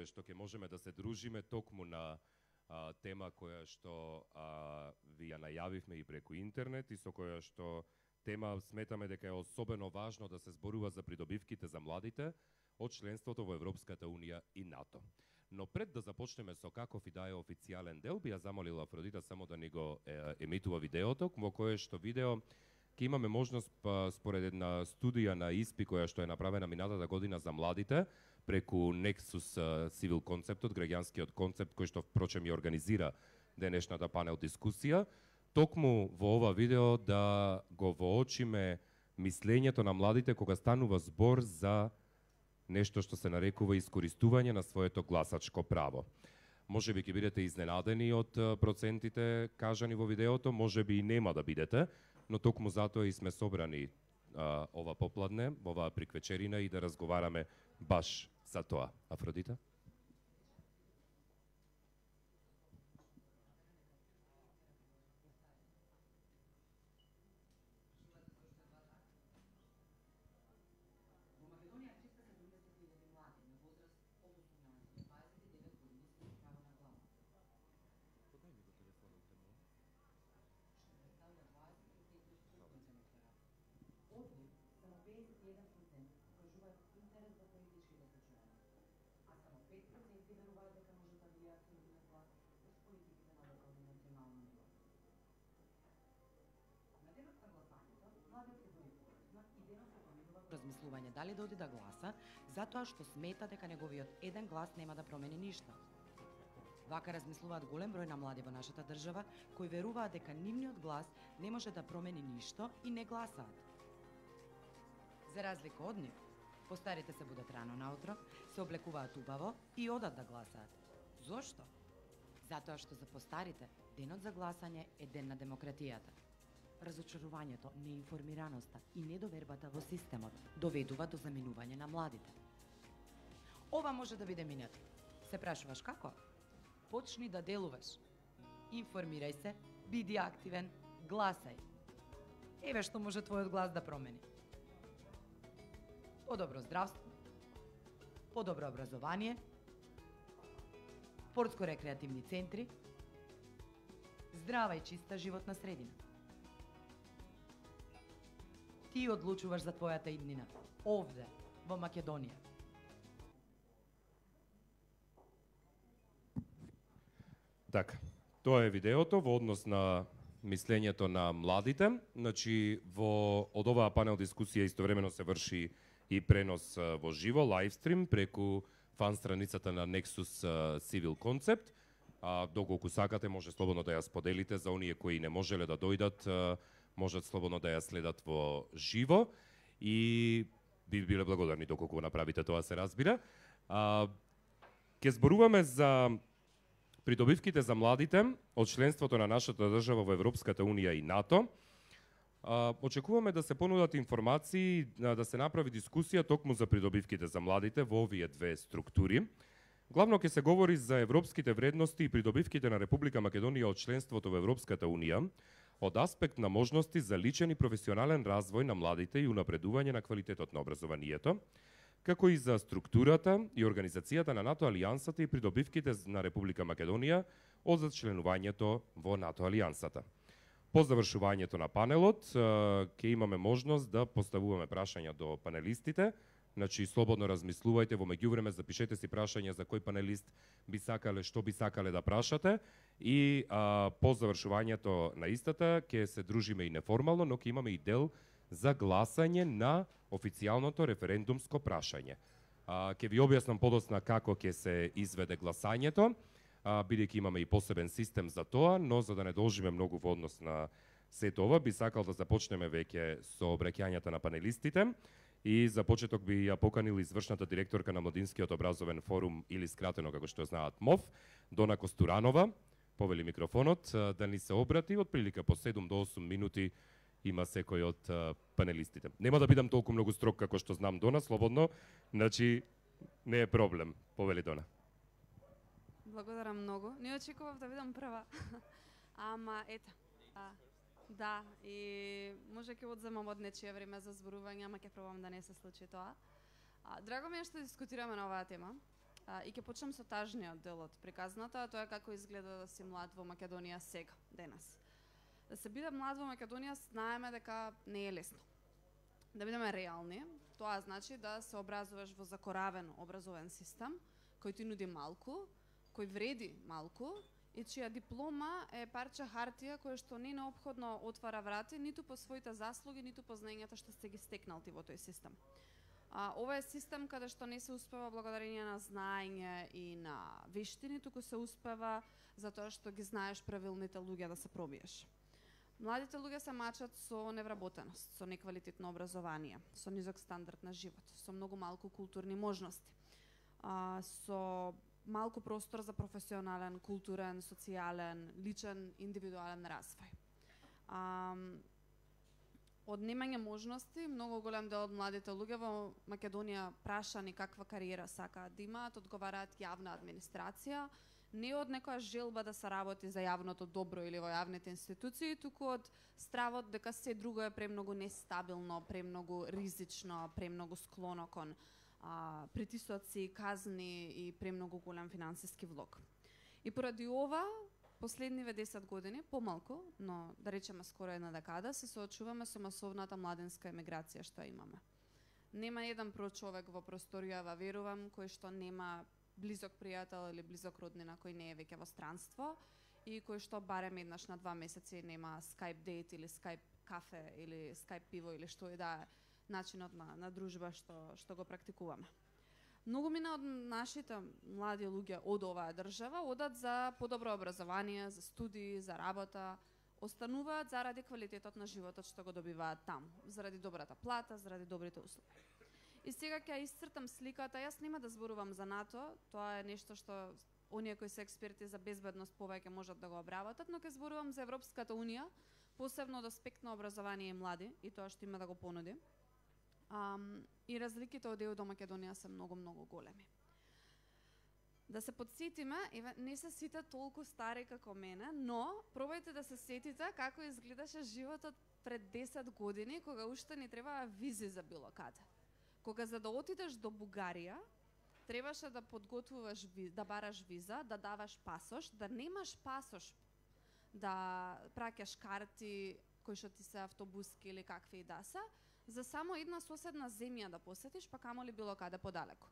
што ќе можеме да се дружиме токму на тема која што ви ја најавивме и преку интернет и со која што тема сметаме дека е особено важно да се зборува за придобивките за младите од членството во Европската Унија и НАТО. Но пред да започнеме со каков и да е официјален дел, би ја замолила Афродита само да ни го емитува видеото, во кое што видео ќе имаме можност според една студија на ИСПИ која што е направена минатата година за младите преку Nexus Civil концептот, граѓанскиот концепт кој што впрочем ја организира денешната панел дискусија, токму во ова видео да го воочиме мислењето на младите кога станува збор за нешто што се нарекува искористување на своето гласачко право. Може би ќе бидете изненадени од процентите кажани во видеото, може би и нема да бидете, но токму затоа и сме собрани ова попладне, оваа приквечерина и да разговараме баш за тоа. Афродита? Размислување дали да оди да гласа, затоа што смета дека неговиот еден глас нема да промени ништо. Вака размислуваат голем број на млади во нашата држава, кои веруваат дека нивниот глас не може да промени ништо и не гласаат. За разлика од нив, постарите се будат рано наутро, се облекуваат убаво и одат да гласаат. Зошто? Затоа што за постарите денот за гласање е ден на демократијата. Разочарувањето, неинформираноста и недовербата во системот доведува до заминување на младите. Ова може да биде минато. Се прашуваш како? Почни да делуваш. Информирај се, биди активен, гласај. Еве што може твојот глас да промени. Подобро здравство, подобро образование, спортско-рекреативни центри, здрава и чиста животна средина. Ти одлучуваш за твојата иднина, овде, во Македонија. Така, тоа е видеото во однос на мислењето на младите. Значи, од оваа панел дискусија истовремено се врши и пренос во живо, лайвстрим, преку фан страницата на Nexus Civil Concept. Доколку сакате, може слободно да ја споделите за оние кои не можеле да дојдат, можат слободно да ја следат во живо и би биле благодарни доколку го направите тоа, се разбира. Ке зборуваме за придобивките за младите од членството на нашата држава во Европската Унија и НАТО. Очекуваме да се понудат информации, да се направи дискусија токму за придобивките за младите во овие две структури. Главно ќе се говори за европските вредности и придобивките на Република Македонија од членството во Европската Унија, од аспект на можности за личен и професионален развој на младите и унапредување на квалитетот на образованието, како и за структурата и организацијата на НАТО алијансата и придобивките на Република Македонија од зачленувањето во НАТО алијансата. По завршувањето на панелот ќе имаме можност да поставуваме прашања до панелистите. Значи, слободно размислувајте, во меѓувреме запишете си прашања за кој панелист би сакале, што би сакале да прашате и по завршувањето на истата ќе се дружиме и неформално, но ќе имаме и дел за гласање на официјалното референдумско прашање. Ќе ви објаснам подоцна како ќе се изведе гласањето, бидејќи имаме и посебен систем за тоа, но за да не должиме многу во однос на сето ова, би сакал да започнеме веќе со обраќањата на панелистите. И за почеток би ја поканил извршната директорка на Младинскиот образовен форум, или скратено како што знаат МОВ, Дона Костуранова, повели микрофонот, да ни се обрати. Од прилика по 7 до 8 минути има секој од панелистите. Нема да бидам толку многу строг како што знам Дона, слободно, значи не е проблем. Повели Дона. Благодарам многу. Не очекував да бидам прва. Ама ета. Да, и може ќе одземам од нечие време за зборување, ама ќе пробам да не се случи тоа. Драго ми е што дискутираме на оваа тема. И ќе почнам со тажниот дел од приказната, а тоа е како изгледа да си млад во Македонија сега, денес. Да се биде млад во Македонија знаеме дека не е лесно. Да бидеме реални, тоа значи да се образуваш во закоравен образовен систем, кој ти нуди малку, кој вреди малку и чија диплома е парче хартија која што не неопходно отвара врати ниту по своите заслуги, ниту по знаењата што сте ги стекнал ти во тој систем. Ова е систем каде што не се успева благодарение на знаење и на вештини, туку се успева затоа што ги знаеш правилните луѓе да се пробиеш. Младите луѓе се мачат со невработеност, со неквалитетно образование, со низок стандард на живот, со многу малку културни можности, со малку простор за професионален, културен, социјален, личен, индивидуален развој. Од немање можности, многу голем дел од младите луѓе во Македонија прашани каква кариера сакаат да имаат, одговараат јавна администрација, не од некоја желба да се работи за јавното добро или во јавните институции, туку од стравот дека се друго е премногу нестабилно, премногу ризично, премногу склоно кон притисоци, казни и премногу голем финансиски влог. И поради ова, последниве 10 години, помалку, но да речеме скоро една декада, се соочуваме со масовната младенска емиграција што имаме. Нема еден човек во просторијава, верувам, кој што нема близок пријател или близок роднина кој не е веќе во странство и кој што барем еднаш на 2 месеци нема Skype дейт или Skype кафе или Skype пиво или што и да е начинот на дружба што го практикуваме. Многу мина од нашите млади луѓе од оваа држава одат за подобро образование, за студии, за работа, остануваат заради квалитетот на животот што го добиваат таму, заради добрата плата, заради добрите услови. И сега ќе исцртам сликата, јас нема да зборувам за НАТО, тоа е нешто што оние кои се експерти за безбедност повеќе можат да го обработат, но ќе зборувам за Европската унија, посебно од аспект на образование и млади и тоа што има да го понуди. И разликите од ЕУ до Македонија се многу големи. Да се подсетиме, не се сите толку стари како мене, но пробајте да се сетите како изгледаше животот пред 10 години, кога уште не требаа визи за било каде. Кога за да отидеш до Бугарија, требаше да подготвуваш, да бараш виза, да даваш пасош, да немаш пасош, да праќаш карти кои што ти се автобуски или какви и да се, за само една соседна земја да посетиш, па камоли било каде подалеку.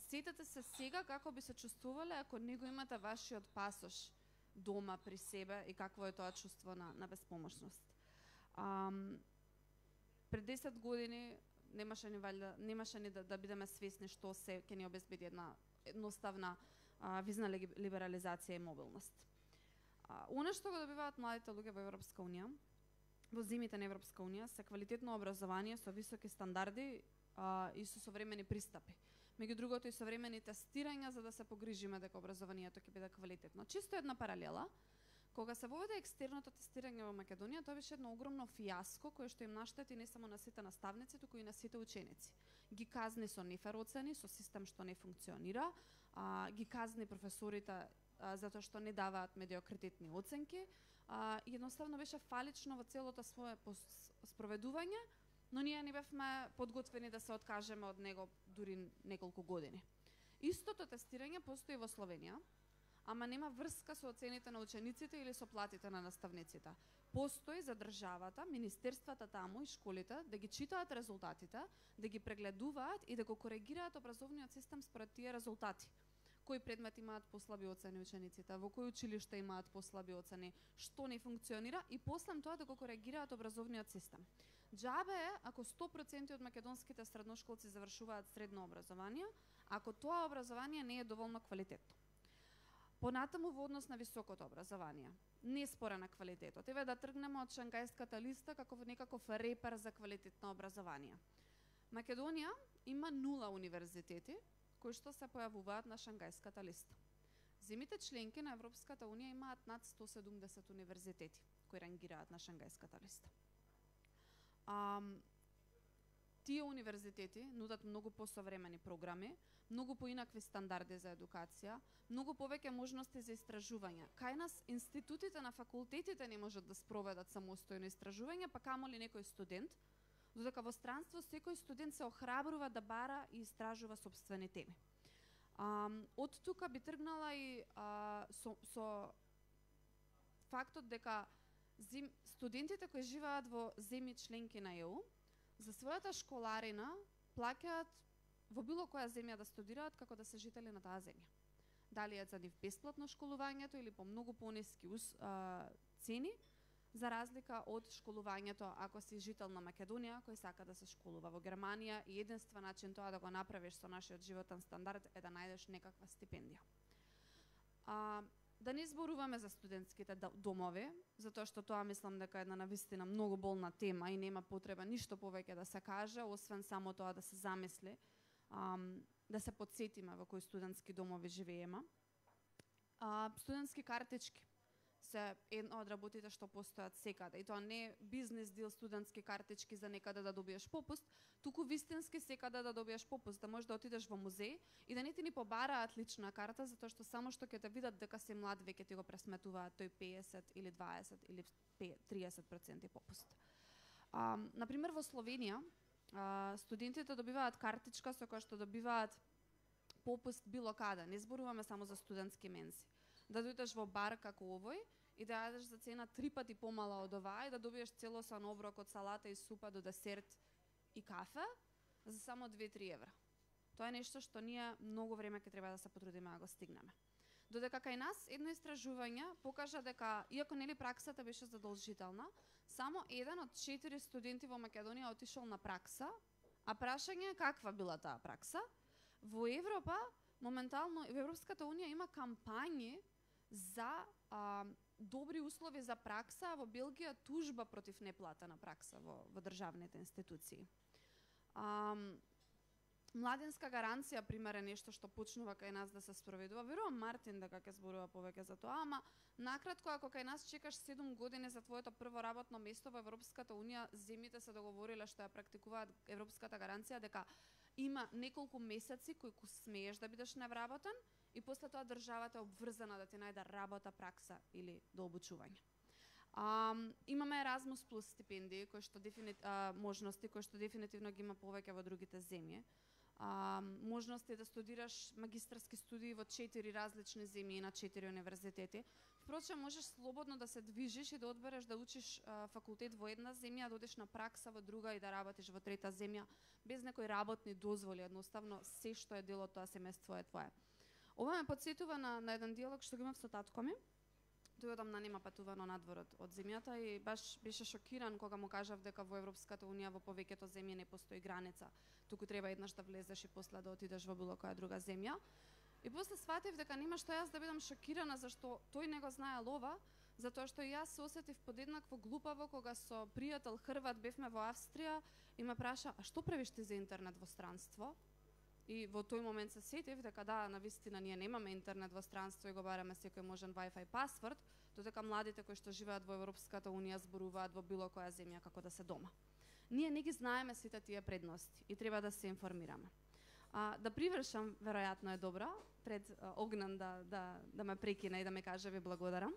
Сетете се сега како би се чувствувале ако не го имате вашиот пасош дома при себе и какво е тоа чувство на безпомошност. Пред 10 години немаше ни да бидеме свесни што се ќе ни обезбеди една едноставна визна либерализација и мобилност. Она што го добиваат младите луѓе во Европска унија, во земјите на Европска унија, се квалитетно образование со високи стандарди и со современи пристапи. Меѓу другото и современи тестирања за да се погрижиме дека образованието ќе биде квалитетно. Чисто една паралела, кога се воведе екстерното тестирање во Македонија, тоа беше едно огромно фијаско кое што им наштети не само на сите наставници, туку и на сите ученици. Ги казни со нефер оцени, со систем што не функционира, ги казни професорите затоа што не даваат медиокритетни оценки, и едноставно беше фалично во целото свое спроведување, но ние не бевме подготвени да се откажеме од него дури неколку години. Истото тестирање постои во Словенија, ама нема врска со оцените на учениците или со платите на наставниците. Постои за државата, министерствата таму и школите да ги читаат резултатите, да ги прегледуваат и да го коригираат образовниот систем според тие резултати. Кои предмети имаат послаби оцени учениците, во кои училишта имаат послаби оцени, што не функционира и после тоа да го коригираат образовниот систем. Џабе е ако 100% од македонските средношколци завршуваат средно образование, ако тоа образование не е доволно квалитетно. Понатаму во однос на високото образование, не спора на квалитетот. Еве да тргнеме од Шангајската листа како некаков репер за квалитетно образование. Македонија има 0 универзитети кои што се појавуваат на Шангајската листа. Земите членки на Европската унија имаат над 170 универзитети кои рангираат на Шангајската листа. Тие универзитети нудат многу посовремени програми, многу поинакви стандарди за едукација, многу повеќе можности за истражување. Кај нас институтите на факултетите не можат да спроведат самостојно истражување, па камоли некој студент, додека во странство секој студент се охрабрува да бара и истражува сопствени теми. Од тука би тргнала и со фактот дека студентите кои живеат во земји членки на ЕУ за својата школарина плаќаат во било која земја да студираат како да се жители на таа земја. Дали е за нив бесплатно школувањето или по многу пониски цени, за разлика од школувањето ако си жител на Македонија кој сака да се школува во Германија и единствен начин тоа да го направиш со нашиот животен стандард е да најдеш некаква стипендија. Да не зборуваме за студентските домови, затоа што тоа мислам дека е една навистина многу болна тема и нема потреба ништо повеќе да се каже, освен само тоа да се замисли, да се потсетиме во кои студентски домови живееме. Студентски картички се една од работите што постојат секаде. И тоа не е бизнес дел студентски картички за некаде да добиеш попуст, туку вистински секаде да добиеш попуст, да можеш да отидеш во музеј и да не ти ни побараат лична карта, затоа што само што ќе те видат дека си млад веќе ти го пресметуваат тој 50 или 20 или 30% попуст. Например во Словенија студентите добиваат картичка со која што добиваат попуст било каде. Не зборуваме само за студентски мензи. Да дојдеш во бар како овој и да јадеш за цена 3 пати помала од оваа и да добиеш целосан оброк од салата и супа до десерт и кафе за само 2-3 евра. Тоа е нешто што ние многу време ќе треба да се потрудиме да го стигнеме. Додека кај нас едно истражување покажа дека иако нели праксата беше задолжителна, само 1 од 4 студенти во Македонија отишол на пракса, а прашање е каква била таа пракса. Во Европа моментално во Европската унија има кампањи за добри услови за пракса, во Белгија тужба против неплатена пракса во државните институции. Младинска гаранција, пример, е нешто што почнува кај нас да се спроведува. Верувам Мартин дека ќе зборува повеќе за тоа, ама накратко, ако кај нас чекаш 7 години за твоето прво работно место во Европската унија, земјите се договориле што ја практикуваат европската гаранција дека има неколку месеци кои смееш да бидеш невработен и после тоа државата е обврзана да ти најде работа, пракса или до обучување. Имаме Erasmus Plus стипендии, можности кои што дефинитивно ги има повеќе во другите земји. Можности да студираш магистарски студии во 4 различни земји на 4 универзитети. Впрочем, можеш слободно да се движиш и да одбереш да учиш факултет во една земја, да одиш на пракса во друга и да работиш во трета земја, без некои работни дозволи, едноставно се што е дел од тоа семејство е твое. Ова ме потсетува на еден диалог што го имав со татко ми. Тој одамна нема патувано надвор од земјата и баш беше шокиран кога му кажав дека во Европската унија во повеќето земји не постои граница, туку треба еднаш да влезеш и после да отидеш во било која друга земја. И после сватив дека нема што јас да бидам шокирана зашто тој не го знаел ова, затоа што јас се осетив подеднакво глупаво кога со пријател Хрват бевме во Австрија и ме праша: "А што правиш ти за интернет во странство?" И во тој момент се сетив дека да, навистина ние немаме интернет во странство и го бараме секој можен Wi-Fi пасворд, додека младите кои што живеат во Европската унија зборуваат во било која земја како да се дома. Ние не ги знаеме сите тие предности и треба да се информираме. Да привршам, веројатно е добро, пред Огнан да ме прекине и да ме каже ви благодарам.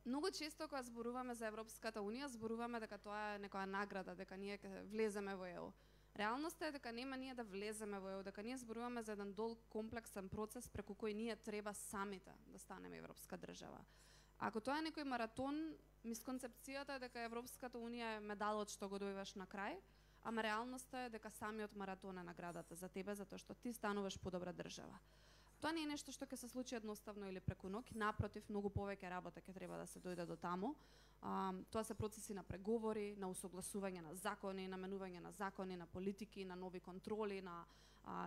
Многу често кога зборуваме за Европската унија, зборуваме дека тоа е некоја награда, дека ние ќе влеземе во ЕУ. Реалноста е дека нема ние да влеземе во ЕУ, дека ние зборуваме за еден долг комплексен процес преку кој ние треба самите да станеме европска држава. Ако тоа е некој маратон, мисконцепцијата е дека Европската унија е медалот што го добиваш на крај, ама реалноста е дека самиот маратон е наградата за тебе, затоа што ти стануваш подобра држава. Тоа не е нешто што ќе се случи едноставно или преку ноќ, напротив, многу повеќе работа ќе треба да се дојде до таму. Тоа се процеси на преговори, на усогласување на закони, наменување на закони, на политики, на нови контроли, на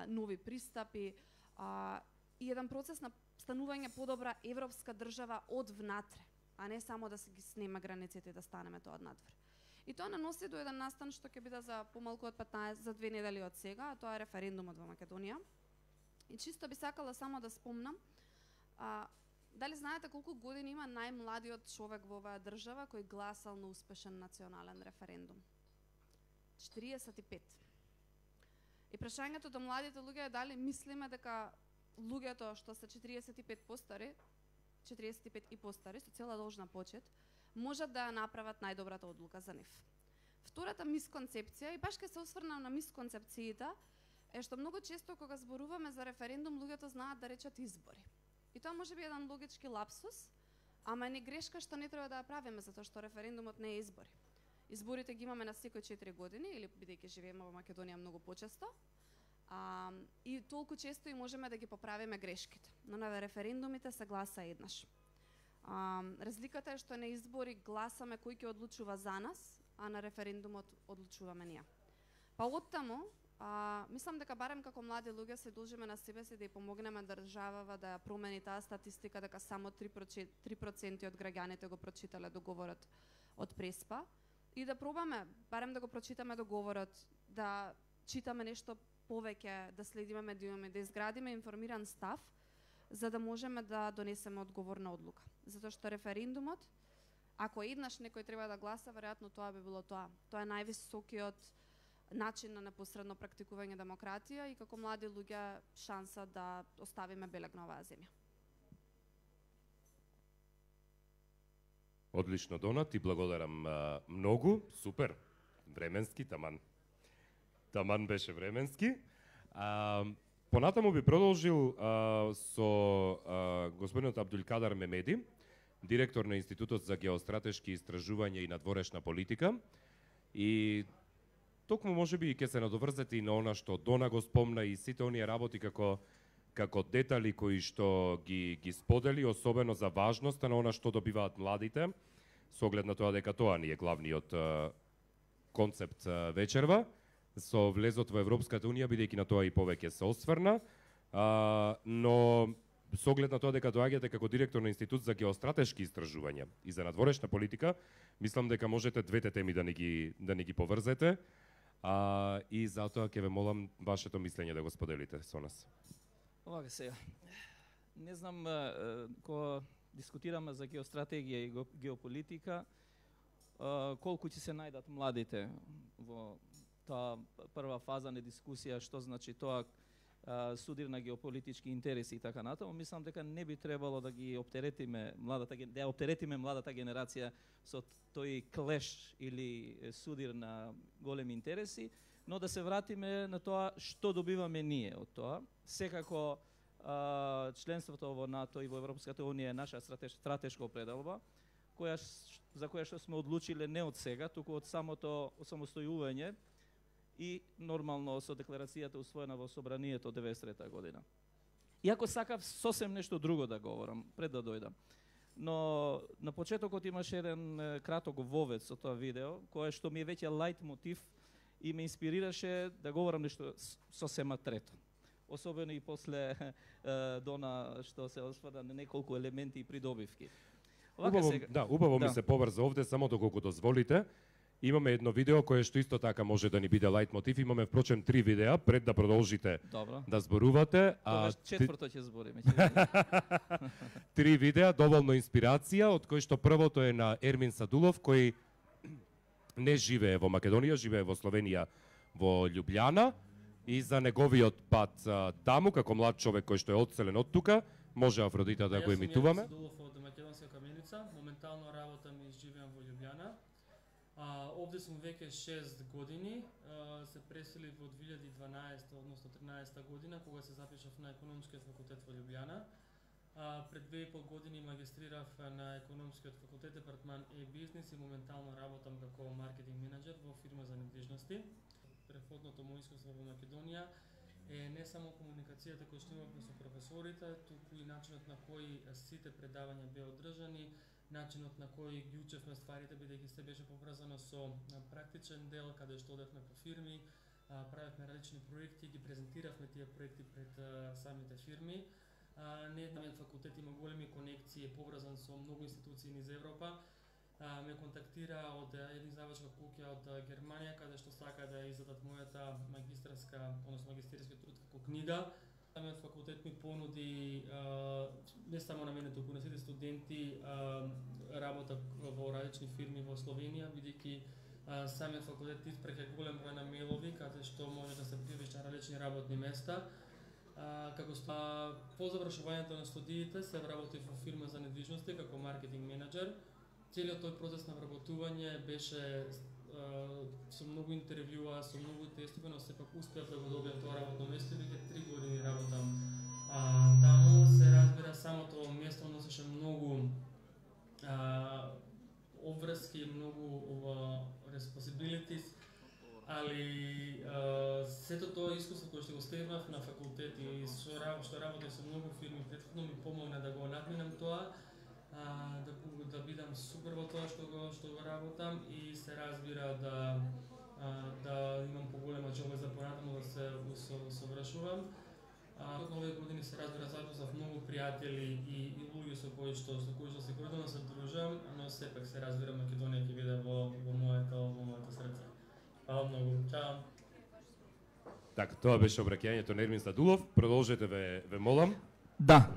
нови пристапи и еден процес на станување подобра европска држава од внатре, а не само да се ги снема границите и да станеме тоа од надвор. И тоа наноси до еден настан што ќе биде за помалку од 15 за 2 недели од сега, а тоа е референдумот во Македонија. И чисто би сакала само да спомнам, дали знаете колку години има најмладиот човек во оваа држава кој гласал на успешен национален референдум? 45. И прашањето до младите луѓе е дали мислиме дека луѓето што се 45 постари, 45 и постари, со цела должна почит, можат да ја направат најдобрата одлука за нив. Втората мисконцепција, и баш ке се осврнам на мисконцепциите, е што многу често кога зборуваме за референдум, луѓето знаат да речат избори. И тоа може би еден логички лапсус, ама не грешка што не треба да ја правиме, затоа што референдумот не е избори. Изборите ги имаме на секој 4 години, или бидејќи живееме во Македонија многу почесто, и толку често и можеме да ги поправиме грешките. Но на референдумите се гласа еднаш. Разликата е што на избори гласаме кој ќе одлучува за нас, а на референдумот одлучуваме ние. Па оттаму, мислам дека барем како млади луѓе се должиме на себе си да ја помогнеме државава да ја промени таа статистика дека само 3% од граѓаните го прочитале договорот од Преспа и да пробаме барем да го прочитаме договорот, да читаме нешто повеќе, да следиме медиуми, да изградиме информиран став, за да можеме да донесеме одговорна одлука. Затоа што референдумот, ако еднаш некој треба да гласа, веројатно тоа би било тоа. Тоа е највисокиот начин на непосредно практикување демократија и како млади луѓе шанса да оставиме белег на оваа земја. Одлично, Дона, ти благодарам многу, супер, временски, таман беше временски. Понатаму би продолжил со господинот Абдулкадар Мемеди, директор на Институтот за геостратешки истражувања и надворешна политика. И токму можеби ќе се надоврзете и на она што Дона го спомна и сите оние работи како детали кои што ги сподели, особено за важноста на она што добиваат младите, со оглед на тоа дека тоа ни е главниот концепт вечерва, со влезот во Европската Унија, бидејќи на тоа и повеќе се осврна, но со оглед на тоа дека доаѓате како директор на Институт за геостратешки истражувања и за надворешна политика, мислам дека можете двете теми да ни ги поврзете, и затоа ќе ве молам вашето мислење да го споделите со нас. Овака сега, не знам, кога дискутираме за геостратегија и геополитика, колку ќе се најдат младите во таа прва фаза на дискусија, што значи тоа судир на геополитички интереси и така натаму. Мислам дека не би требало да ги оптеретиме младата генерација со тој клеш или судир на големи интереси, но да се вратиме на тоа што добиваме ние од тоа. Секако членството во НАТО и во Европската Унија е наша стратешка определба, за која што сме одлучиле не од сега, туку од самото самостојување и нормално со декларацијата усвоена во Собранието 93 година. Иако сакав сосем нешто друго да говорам пред да дојдам. Но на почетокот имаше еден краток вовед со тоа видео, кое што ми е веќе лајт мотив и ме инспирираше да говорам нешто сосема трето. Особено и после Дона што се осврна на неколку елементи и придобивки. Убаво ми се поврза овде, само доколку дозволите. Имаме едно видео кое што исто така може да ни биде лајт мотив. Имаме впрочем 3 видеа пред да продолжите да зборувате. Четврто ќе збориме. 3 видеа, доволно инспирација, од кои што првото е на Ермин Садулов, кој не живее во Македонија, живее во Словенија, во Љубљана, и за неговиот пат таму, како млад човек кој што е одселен од тука, може Афродита да го емитуваме. Јас сум Ермин Садулов од Македонска Каменица, моментално работам и живеам во Љубљана. Овде сум веќе 6 години, се преселив во 2012, односно 13 година, кога се запишав на Економскиот факултет во Љубљана. Пред 2,5 години магистрирав на Економскиот факултет, департман e-бизнес, и моментално работам како маркетинг менеджер во фирма за недвижности. Преходното мој искуство во Македонија е не само комуникацијата која што имавме со професорите, туку и начинот на кој сите предавања беа одржани, начинот на кој ги учевме стварите, бидејќи се беше поврзано со практичен дел, каде што одевме по фирми, правевме различни проекти, ги презентиравме тие проекти пред самите фирми. Нееднавиот факултет има големи конекции, поврзан со многу институции низ Европа. Ме контактира од една издавачка куќа од Германија, каде што сака да издадат мојата магистерски труд како книга. Самиот факултет ми понуди, не само на мене, туку на сите студенти, работа во различни фирми во Словенија, бидејќи самиот факултет испреќа голем број на мејлови, каде што може да се пријавиш на различни работни места. Како по завршувањето на студиите се работи во фирма за недвижности како маркетинг менеджер. Целиот тој процес на вработување беше со многу интервјуа, со многу тестови, но сепак успеав да го добијам тоа работно место и веќе 3 години работам. Таму се разбира самото место носеше многу обврски, многу responsibilities, али сето тоа искуство кое што го стегнав на факултет и што работев со многу фирми претходно ми помогна да го надминам тоа, да бидам супер во тоа што го работам и се разбира да имам поголема џелба за понатаму да се усовршувам. Од овие години се разбира запознав многу пријатели и луѓе со кои што се година се дружам, но сепак се разбира Македонија ќе биде во моето срце. Фала многу. Чао. Така, тоа беше обраќањето на Ермин Стадулов. Продолжете, ве молам. Да.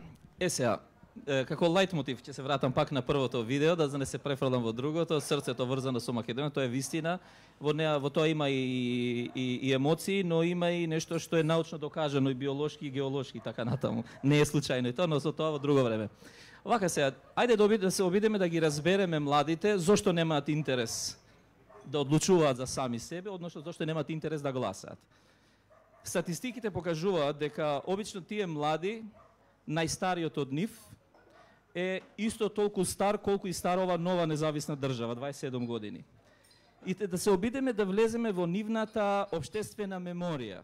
Сега, како лајт мотив ќе се вратам пак на првото видео, да не се префрлам во другото. Срцето врзано со Македонија, тоа е вистина. Во тоа има и емоции, но има и нешто што е научно докажано и биолошки и геолошки така натаму. Не е случајно и тоа, но со тоа во друго време. Вака сега, ајде да се обидеме да ги разбереме младите зошто немаат интерес да одлучуваат за сами себе, односно зашто немаат интерес да гласаат. Статистиките покажуваат дека обично тие млади, најстариот од нив, е исто толку стар колку и стар ова нова независна држава, 27 години. И да се обидеме да влеземе во нивната општествена меморија.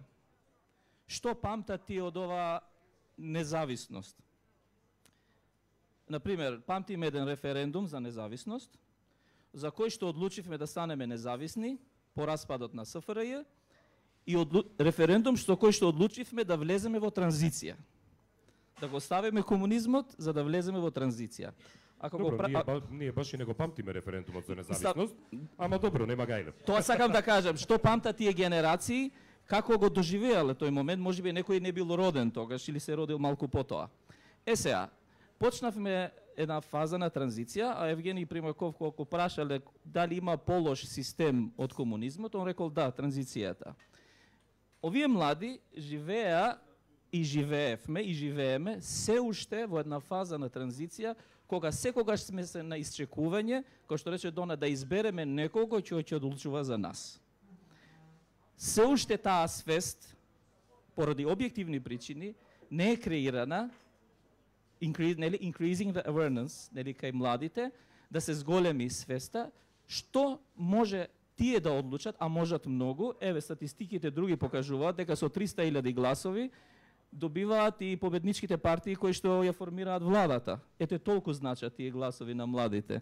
Што памтат тие од ова независност? Например, памтиме еден референдум за независност, за кој што одлучивме да станеме независни по распадот на СФРЈ и референдум што кој што одлучивме да влеземе во транзиција. Да го ставиме комунизмот за да влеземе во транзиција. Добро, ние баш и не го памтиме референдумот за независност, ама добро, нема гајле. Тоа сакам да кажам, што памтат тие генерации, како го доживеале тој момент, можеби некој не бил роден тогаш или се родил малку потоа. Сега, почнавме една фаза на транзиција, а Евгений Примаков колку прашале дали има полош систем од комунизмот, он рекол да, транзицијата. Овие млади живеа и живеевме и живееме се уште во една фаза на транзиција, кога секогаш сме се на исчекување, кој што рече Дона, да избереме некого кој ќе одлучува за нас. Се уште таа свест, поради објективни причини, не е креирана, increasing the awareness, кај младите, да се зголеми свеста, што може тие да одлучат, а можат многу. Еве, статистиките други покажуваат дека со 300.000 гласови добиваат и победничките партии кои што ја формираат владата. Ете, толку значат тие гласови на младите.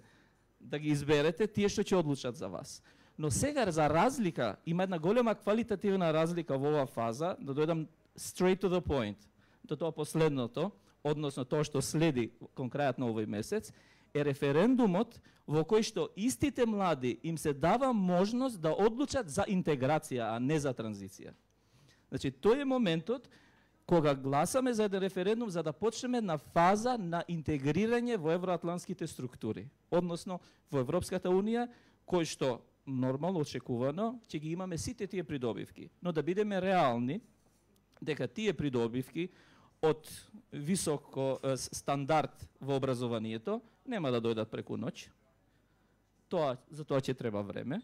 Да ги изберете тие што ќе одлучат за вас. Но сега, за разлика, има една голема квалитативна разлика во оваа фаза, да дојдам straight to the point, до тоа последното, односно тоа што следи кон крајот на овој месец, е референдумот во кој што истите млади им се дава можност да одлучат за интеграција, а не за транзиција. Значи, тој е моментот кога гласаме за еден референдум за да почнеме на фаза на интегрирање во евроатлантските структури, односно во Европската Унија, кој што нормално очекувано ќе ги имаме сите тие придобивки, но да бидеме реални дека тие придобивки од високо стандард во образованието нема да дојдат преку ноќ. За тоа ќе треба време,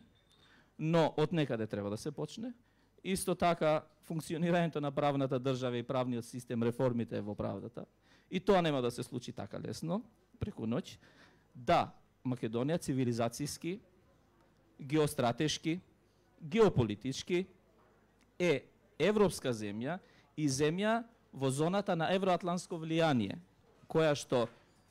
но од некаде треба да се почне. Исто така, функционирањето на правната држава и правниот систем, реформите во правдата, и тоа нема да се случи така лесно, преку ноќ. Да, Македонија цивилизацијски, геостратешки, геополитички е европска земја и земја во зоната на евроатлантско влијание, која што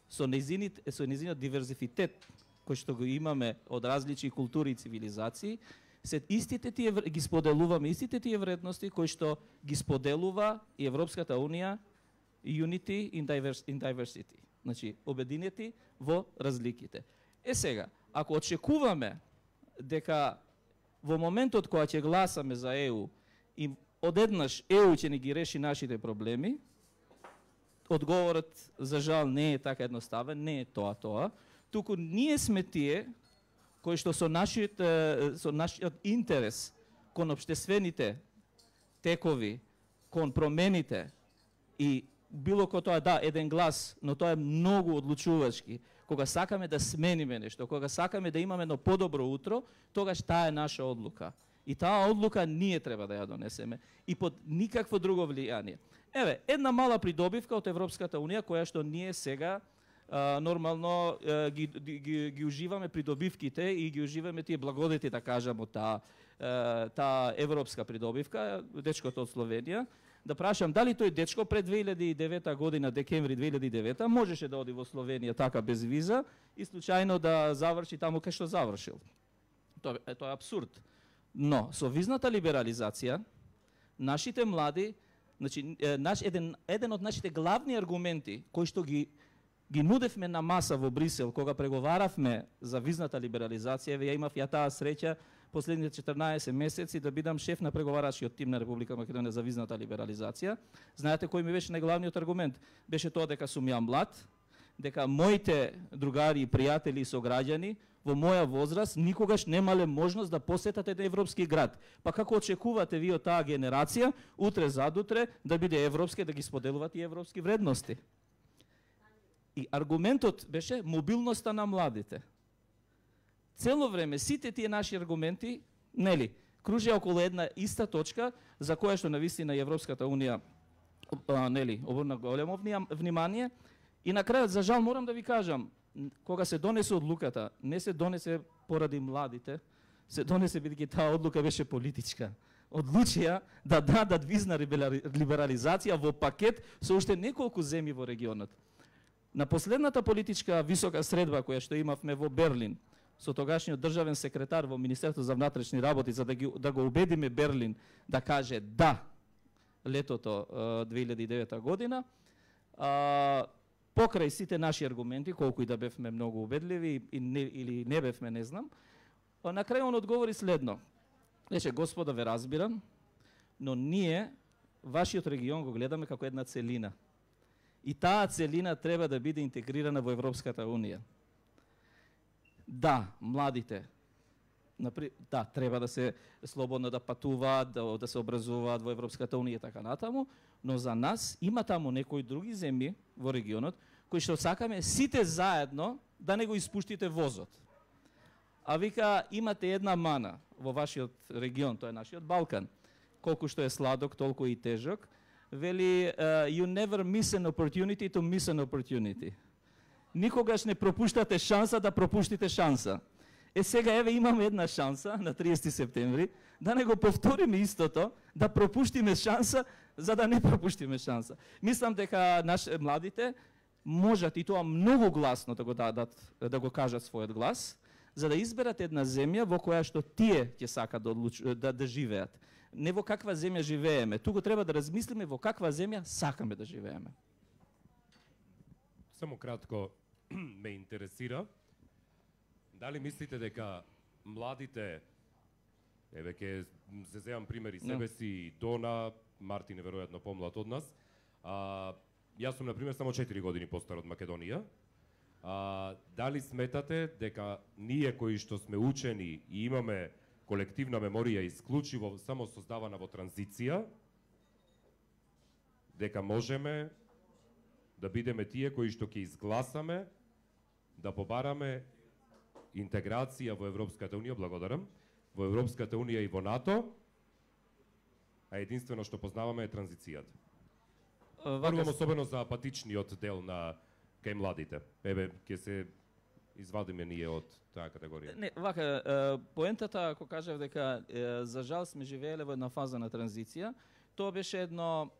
со незиниот диверзифитет, кој што го имаме од различни култури и цивилизации, се истите тие ги споделуваме истите тие вредности кои што ги споделува и Европската Унија, unity in diversity. Значи, обединети во разликите. Сега, ако очекуваме дека во моментот кога ќе гласаме за ЕУ и одеднаш ЕУ ќе ни ги реши нашите проблеми, одговорот за жал не е така едноставен, не е тоа, туку ние сме тие кои што со нашиот интерес кон општествените текови, кон промените и било кој тоа да, еден глас, но тоа е многу одлучувачки. Кога сакаме да смениме нешто, кога сакаме да имаме едно подобро утро, тогаш таа е наша одлука. И таа одлука ние треба да ја донесеме и под никакво друго влијание. Еве, една мала придобивка од Европската унија која што ние сега нормално ги уживаме придобивките и ги уживаме тие благодети, да кажам, од таа европска придобивка, дечкото од Словенија. Да прашам дали тој дечко пред 2009 година, декември 2009, можеше да оди во Словенија така без виза и случајно да заврши таму кај што завршил. Тоа е апсурд. Но со визната либерализација нашите млади, значи еден од нашите главни аргументи кои што ги нудевме на маса во Брисел кога преговаравме за визната либерализација, ја имав таа среќа последните 14 месеци да бидам шеф на преговарачкиот тим на Република Македонија за визната либерализација. Знаете кој ми беше најглавниот аргумент? Беше тоа дека сум ја млад, дека моите другари и пријатели и сограѓани во моја возраст никогаш немале можност да посетат еден европски град. Па како очекувате ви од таа генерација утре задутре да биде европски, да ги споделуваат и европски вредности? И аргументот беше мобилноста на младите. Цело време сите тие наши аргументи, нели, кружеа околу една иста точка за која што навистина Европската унија нели, обрна големо внимание и на крајот за жал морам да ви кажам, кога се донесе одлуката, не се донесе поради младите, се донесе бидејќи таа одлука беше политичка. Одлучија да дадат визна либерализација во пакет со уште неколку земји во регионот. На последната политичка висока средба која што имавме во Берлин, со тогашниот државен секретар во Министерството за внатрешни работи, за да го убедиме Берлин да каже да летото 2009 година, покрај сите наши аргументи, колку и да бевме многу убедливи или не бевме, не знам, на крај он одговори следно. Рече, господа, ве разбирам, но ние вашиот регион го гледаме како една целина. И таа целина треба да биде интегрирана во Европската унија. Да, младите, да, треба да се слободно да патуваат, да се образуваат во Европската унија и така натаму, но за нас има таму некои други земји во регионот кои што сакаме сите заедно да не го испуштите возот. А вика, имате една мана во вашиот регион, тоа е нашиот Балкан. Колку што е сладок, толку и тежок. Вели, you never miss an opportunity to miss an opportunity. Никогаш не пропуштате шанса да пропуштите шанса. Сега еве имаме една шанса на 30 септември да не го повториме истото, да пропуштиме шанса за да не пропуштиме шанса. Мислам дека младите можат и тоа многу гласно да го дадат, да го кажат својот глас, за да изберат една земја во која што тие ќе сакат да живеат. Не во каква земја живееме, туку треба да размислиме во каква земја сакаме да живееме. Само кратко ме интересира, дали мислите дека младите, еве ке се земам примери себе си и Дона, Мартин е веројатно помлад од нас, јас сум, например, само 4 години постар од Македонија, дали сметате дека ние кои што сме учени и имаме колективна меморија исклучиво само создавана во транзиција, дека можеме да бидеме тие кои што ќе изгласаме да побараме интеграција во Европската унија, благодарам, во Европската унија и во НАТО, а единствено што познаваме е транзицијата. Првом особено за апатичниот дел на кај младите. Еве, ќе се извадиме ние од таа категорија. Не, вака, поентата, ако кажав дека за жал сме живееле во една фаза на транзиција, тоа беше едно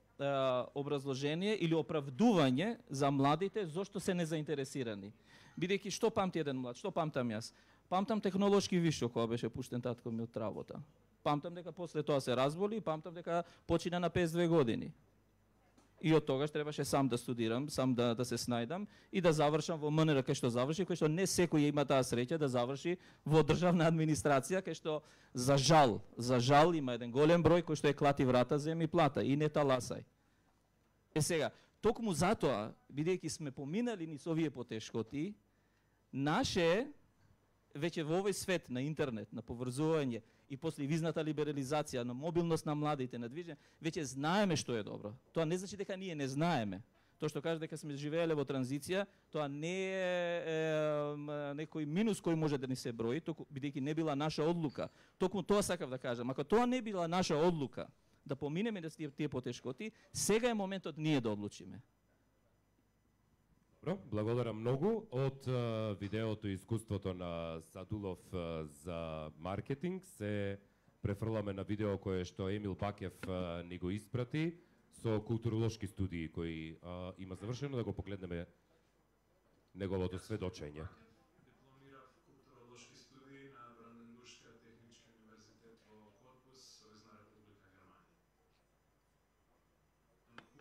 образложение или оправдување за младите зошто се незаинтересирани. Бидејќи што памти еден млад, што памтам јас? Памтам технолошки вишок кога беше пуштен татко ми од работа. Памтам дека после тоа се разболи и памтам дека почина на 52 години. И од тогаш требаше сам да студирам, сам да се снајдам и да завршам во МНР кај што заврши, кај што не секој има таа среќа да заврши во државна администрација, кај што за жал има еден голем број кој што е клати врата, земи плата и не таласај. Сега, токму затоа, бидејќи сме поминали низ овие потешкоти, наше веќе во овој свет на интернет, на поврзување и после визната либерализација, на мобилност на младите, на движење, веќе знаеме што е добро. Тоа не значи дека ние не знаеме. Тоа што кажа дека сме живееле во транзиција, тоа не е некој минус кој може да ни се брои, бидејќи не била наша одлука. Токму тоа сакав да кажам. Ако тоа не била наша одлука да поминеме да тие потешкоти, сега е моментот ние да одлучиме. Добро, благодарам многу. Од видеото и искуството на Садулов за маркетинг се префрламе на видео кое што Емил Бакев ни го испрати со културолошки студии кои има завршено, да го погледнеме неговото сведочење. Дипломирав културолошки студии на Бранденбургскиот технички универзитет во Корпус, Сојузна република Германија.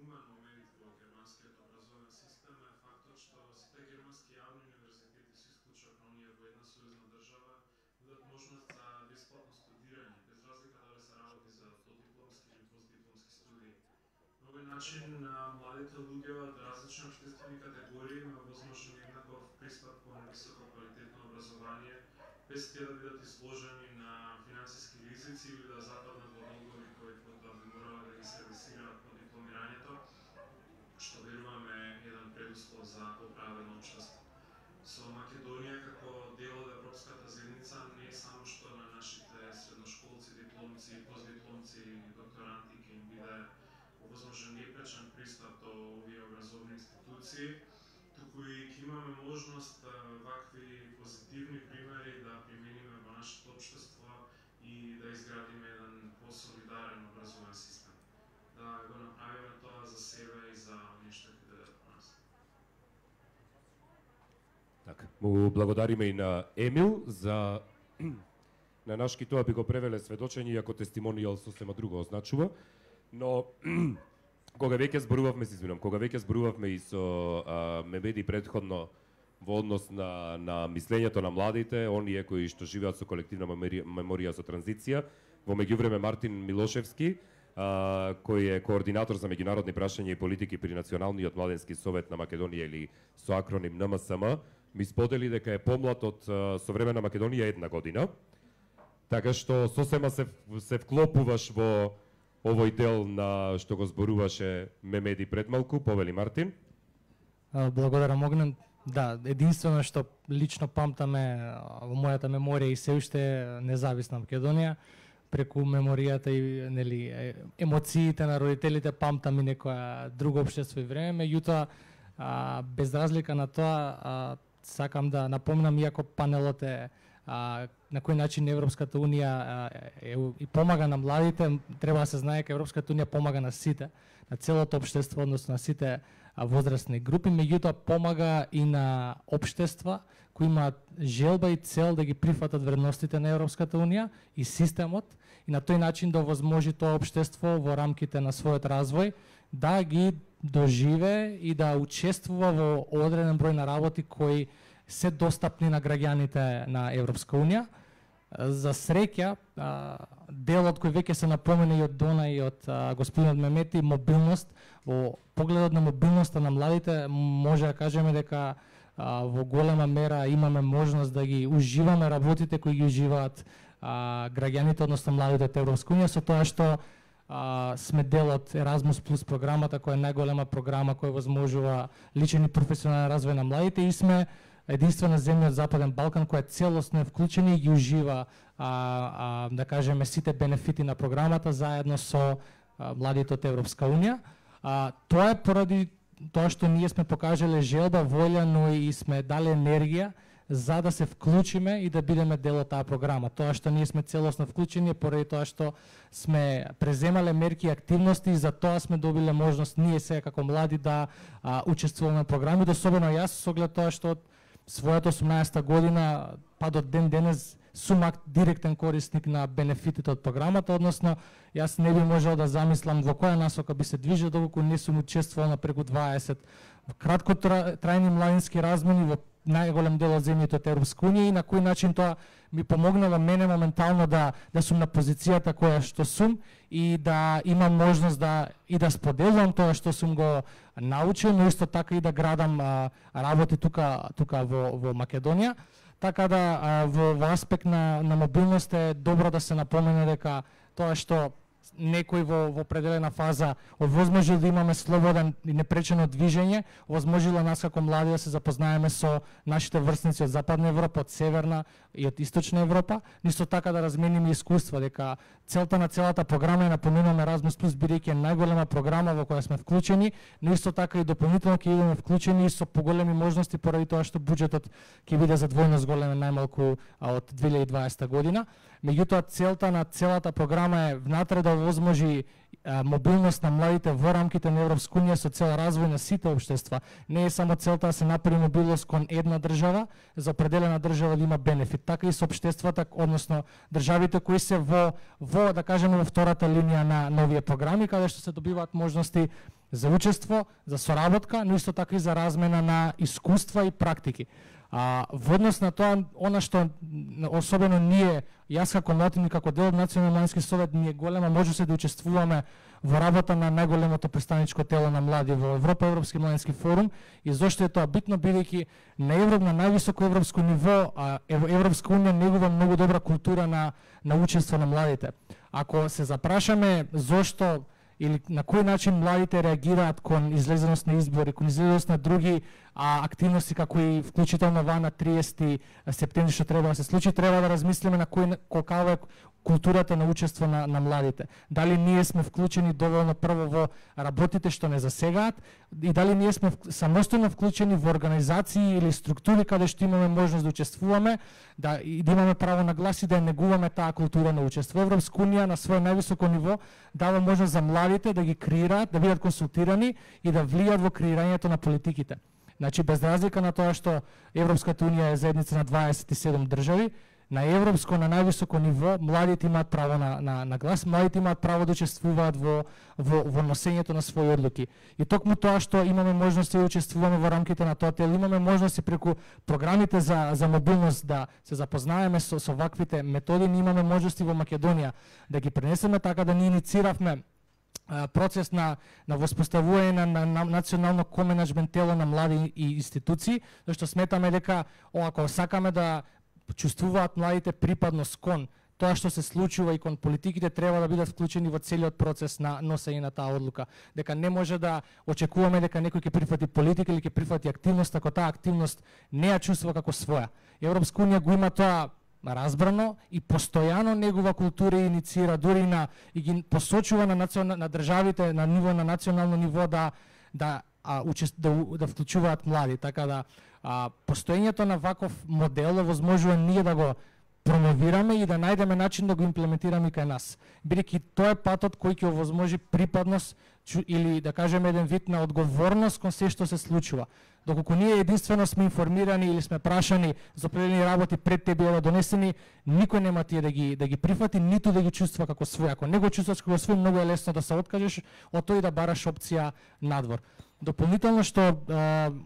Умен момент во германскиот образовен систем е фактот што сите германски јавни универзитети со исклучок на оние во една сојузна држава нудат можност за бесплатно студирање, без разлика дали се работи за додипломски или постдипломски студии. На овој начин младите луѓе од различни општествени категории има возможен еднаков пристап кон високо квалитетно образование, без тие да бидат изложени на финансиски ризици или да западнат во долгови кои потоа би морале да ги сервисираат по дипломирањето, што веруваме е еден предуслов за поправено општество. Со Македонија како дел од Европската заедница не само што на нашите средношколци, дипломци, постдипломци и докторанти ќе им биде возможен непречен пристап до овие образовни институции, туку и ќе имаме можност вакви позитивни примери да примениме во нашето општество и да изградиме еден посолидарен образовен систем. Да го направиме тоа за себе и за оние што ќе дојдат по нас. Така, му благодариме и на Емил за на нашки тоа би го превеле сведочење, иако тестимонијал сосема друго означува, но кога веќе зборувавме и со Мемеди претходно во однос на мислењето на младите, оние кои што живеат со колективна меморија со транзиција, во меѓувреме Мартин Милошевски, кој е координатор за меѓународни прашања и политики при Националниот младенски совет на Македонија или со акроним НМСМ, ми сподели дека е помлад од современа Македонија 1 година. Така што сосема се вклопуваш во овој дел на што го зборуваше Мемеди пред малку. Повели Мартин. Благодарам, Огнен. Да, единствено што лично памтаме во мојата меморија и се уште независна Македонија, преку меморијата и нели емоциите на родителите памтам и некоја друго општество и време, меѓутоа без разлика на тоа сакам да напомнам, иако панелот е на кој начин Европската унија и помага на младите, треба да се знае дека Европската унија помага на сите, на целото општество, односно на сите возрастни групи, меѓутоа помага и на општества кои имаат желба и цел да ги прифатат вредностите на Европската унија и системот и на тој начин да овозможи тоа општество во рамките на својот развој да ги доживе и да учествува во одреден број на работи кои се достапни на граѓаните на Европска унија. За среќа, делот кој веќе се напомена и од Дона и од господинот Мемети, мобилност, во погледот на мобилноста на младите, може да кажеме дека во голема мера имаме можност да ги уживаме работите кои ги уживаат граѓаните, односно младите од Европска унија, со тоа што сме дел од Erasmus Plus програмата, која е најголема програма која возможува личен и професионален развој на младите и сме единствена земја од Западен Балкан која целосно е вклучена и ги ужива да кажеме сите бенефити на програмата заедно со младите од Европска унија. Тоа е поради тоа што ние сме покажале желба, волја, но и сме дали енергија за да се вклучиме и да бидеме дел од таа програма. Тоа што ние сме целосно вклучени е поради тоа што сме преземале мерки и активности и за тоа сме добиле можност ние сега како млади да учествуваме во програми, особено јас со оглед тоа што од својата 18-та година па до ден денес сум директен корисник на бенефитите од програмата, односно јас не би можел да замислам во која насока би се движел доколку не сум учествувал на преку 20 краткотрајни младински размени во најголем дел од земјите од Европска унија и на кој начин тоа ми помогнало мене моментално да сум на позицијата која што сум и да имам можност да споделувам тоа што сум го научил, но исто така и да градам работи тука во Македонија. Така да во аспект на мобилност е добро да се напомене дека тоа што некој во определена фаза овозможил да имаме слободен и непречено движење, овозможила нас како млади да се запознаеме со нашите врсници од Западна Европа, од Северна и од Источна Европа, нисто така да размениме искуства, дека целта на целата програма е напоминаме Erasmus Plus бидејќи е најголема програма во која сме вклучени, но исто така и дополнително ќе идеме вклучени со поголеми можности поради тоа што буџетот ќе биде за двојно зголемен најмалку од 2020 година. Меѓутоа целта на целата програма е внатре да овозможи мобилност на младите во рамките на Европска унија со цел развој на сите општества. Не е само целта да се направи мобилност кон една држава, за определена држава да има бенефит, така и со општествата, односно државите кои се во да кажеме во втората линија на овие програми, каде што се добиваат можности за учество, за соработка, но исто така и за размена на искуства и практики. Во однос на тоа, она што особено ние, јас како младин и како дел од Национален младински совет, ние голема можност да учествуваме во работа на најголемото представничко тело на млади во Европа, Европски младински форум. И зошто е тоа битно, бидејќи на највисоко европско ниво, Европска унија негува многу добра култура на учество на младите. Ако се запрашаме зошто или на кој начин младите реагираат кон излезеност на избори, кон излезеност на други активности, како и вклучително на 30 септември што треба да се случи, треба да размислиме на каква е културата на учество на младите. Дали ние сме вклучени доволно прво во работите што не засегаат и дали ние сме самостојно вклучени во организации или структури каде што имаме можност да учествуваме, да имаме право на глас и да негуваме таа култура на учество. Европска унија на своје највисоко ниво дава можност за младите да ги креираат, да бидат консултирани и да влијат во креирањето на политиките. Значи, без разлика на тоа што Европската унија е заедница на 27 држави, на европско, на највисоко ниво, младите имаат право на глас, младите имаат право да учествуваат во носењето на своји одлуки. И токму тоа што имаме можности да учествуваме во рамките на тоа тел, имаме можности преку програмите за мобилност да се запознаеме со ваквите методи, ние имаме можности во Македонија да ги пренесеме така да ние иницииравме процес на воспоставување на национално коменаџмент тело на млади и институции, зашто сметаме дека ако сакаме да чувствуваат младите припадност кон тоа што се случува и кон политиките, треба да бидат вклучени во целиот процес на носење на таа одлука. Дека не може да очекуваме дека некој ќе прифати политика или ќе прифати активност ако таа активност не ја чувствува како своја. Европска унија го има тоа разбрано и постојано негова култура инициира, дури и ги посочува на државите на ниво на национално ниво да вклучуваат млади, така да постоењето на ваков модел овозможува ние да го промовираме и да најдеме начин да го имплементираме кај нас. Бидејќи тоа е патот кој ќе овозможи припадност или да кажеме еден вид на одговорност кон се што се случува. Доколку ние единствено сме информирани или сме прашани за определени работи пред те да донесени, никој нема тие да ги прифати, ниту да ги чувства како свој. Ако не го чувствуваш како свој, многу е лесно да се откажеш од тој да бараш опција надвор. Дополнително што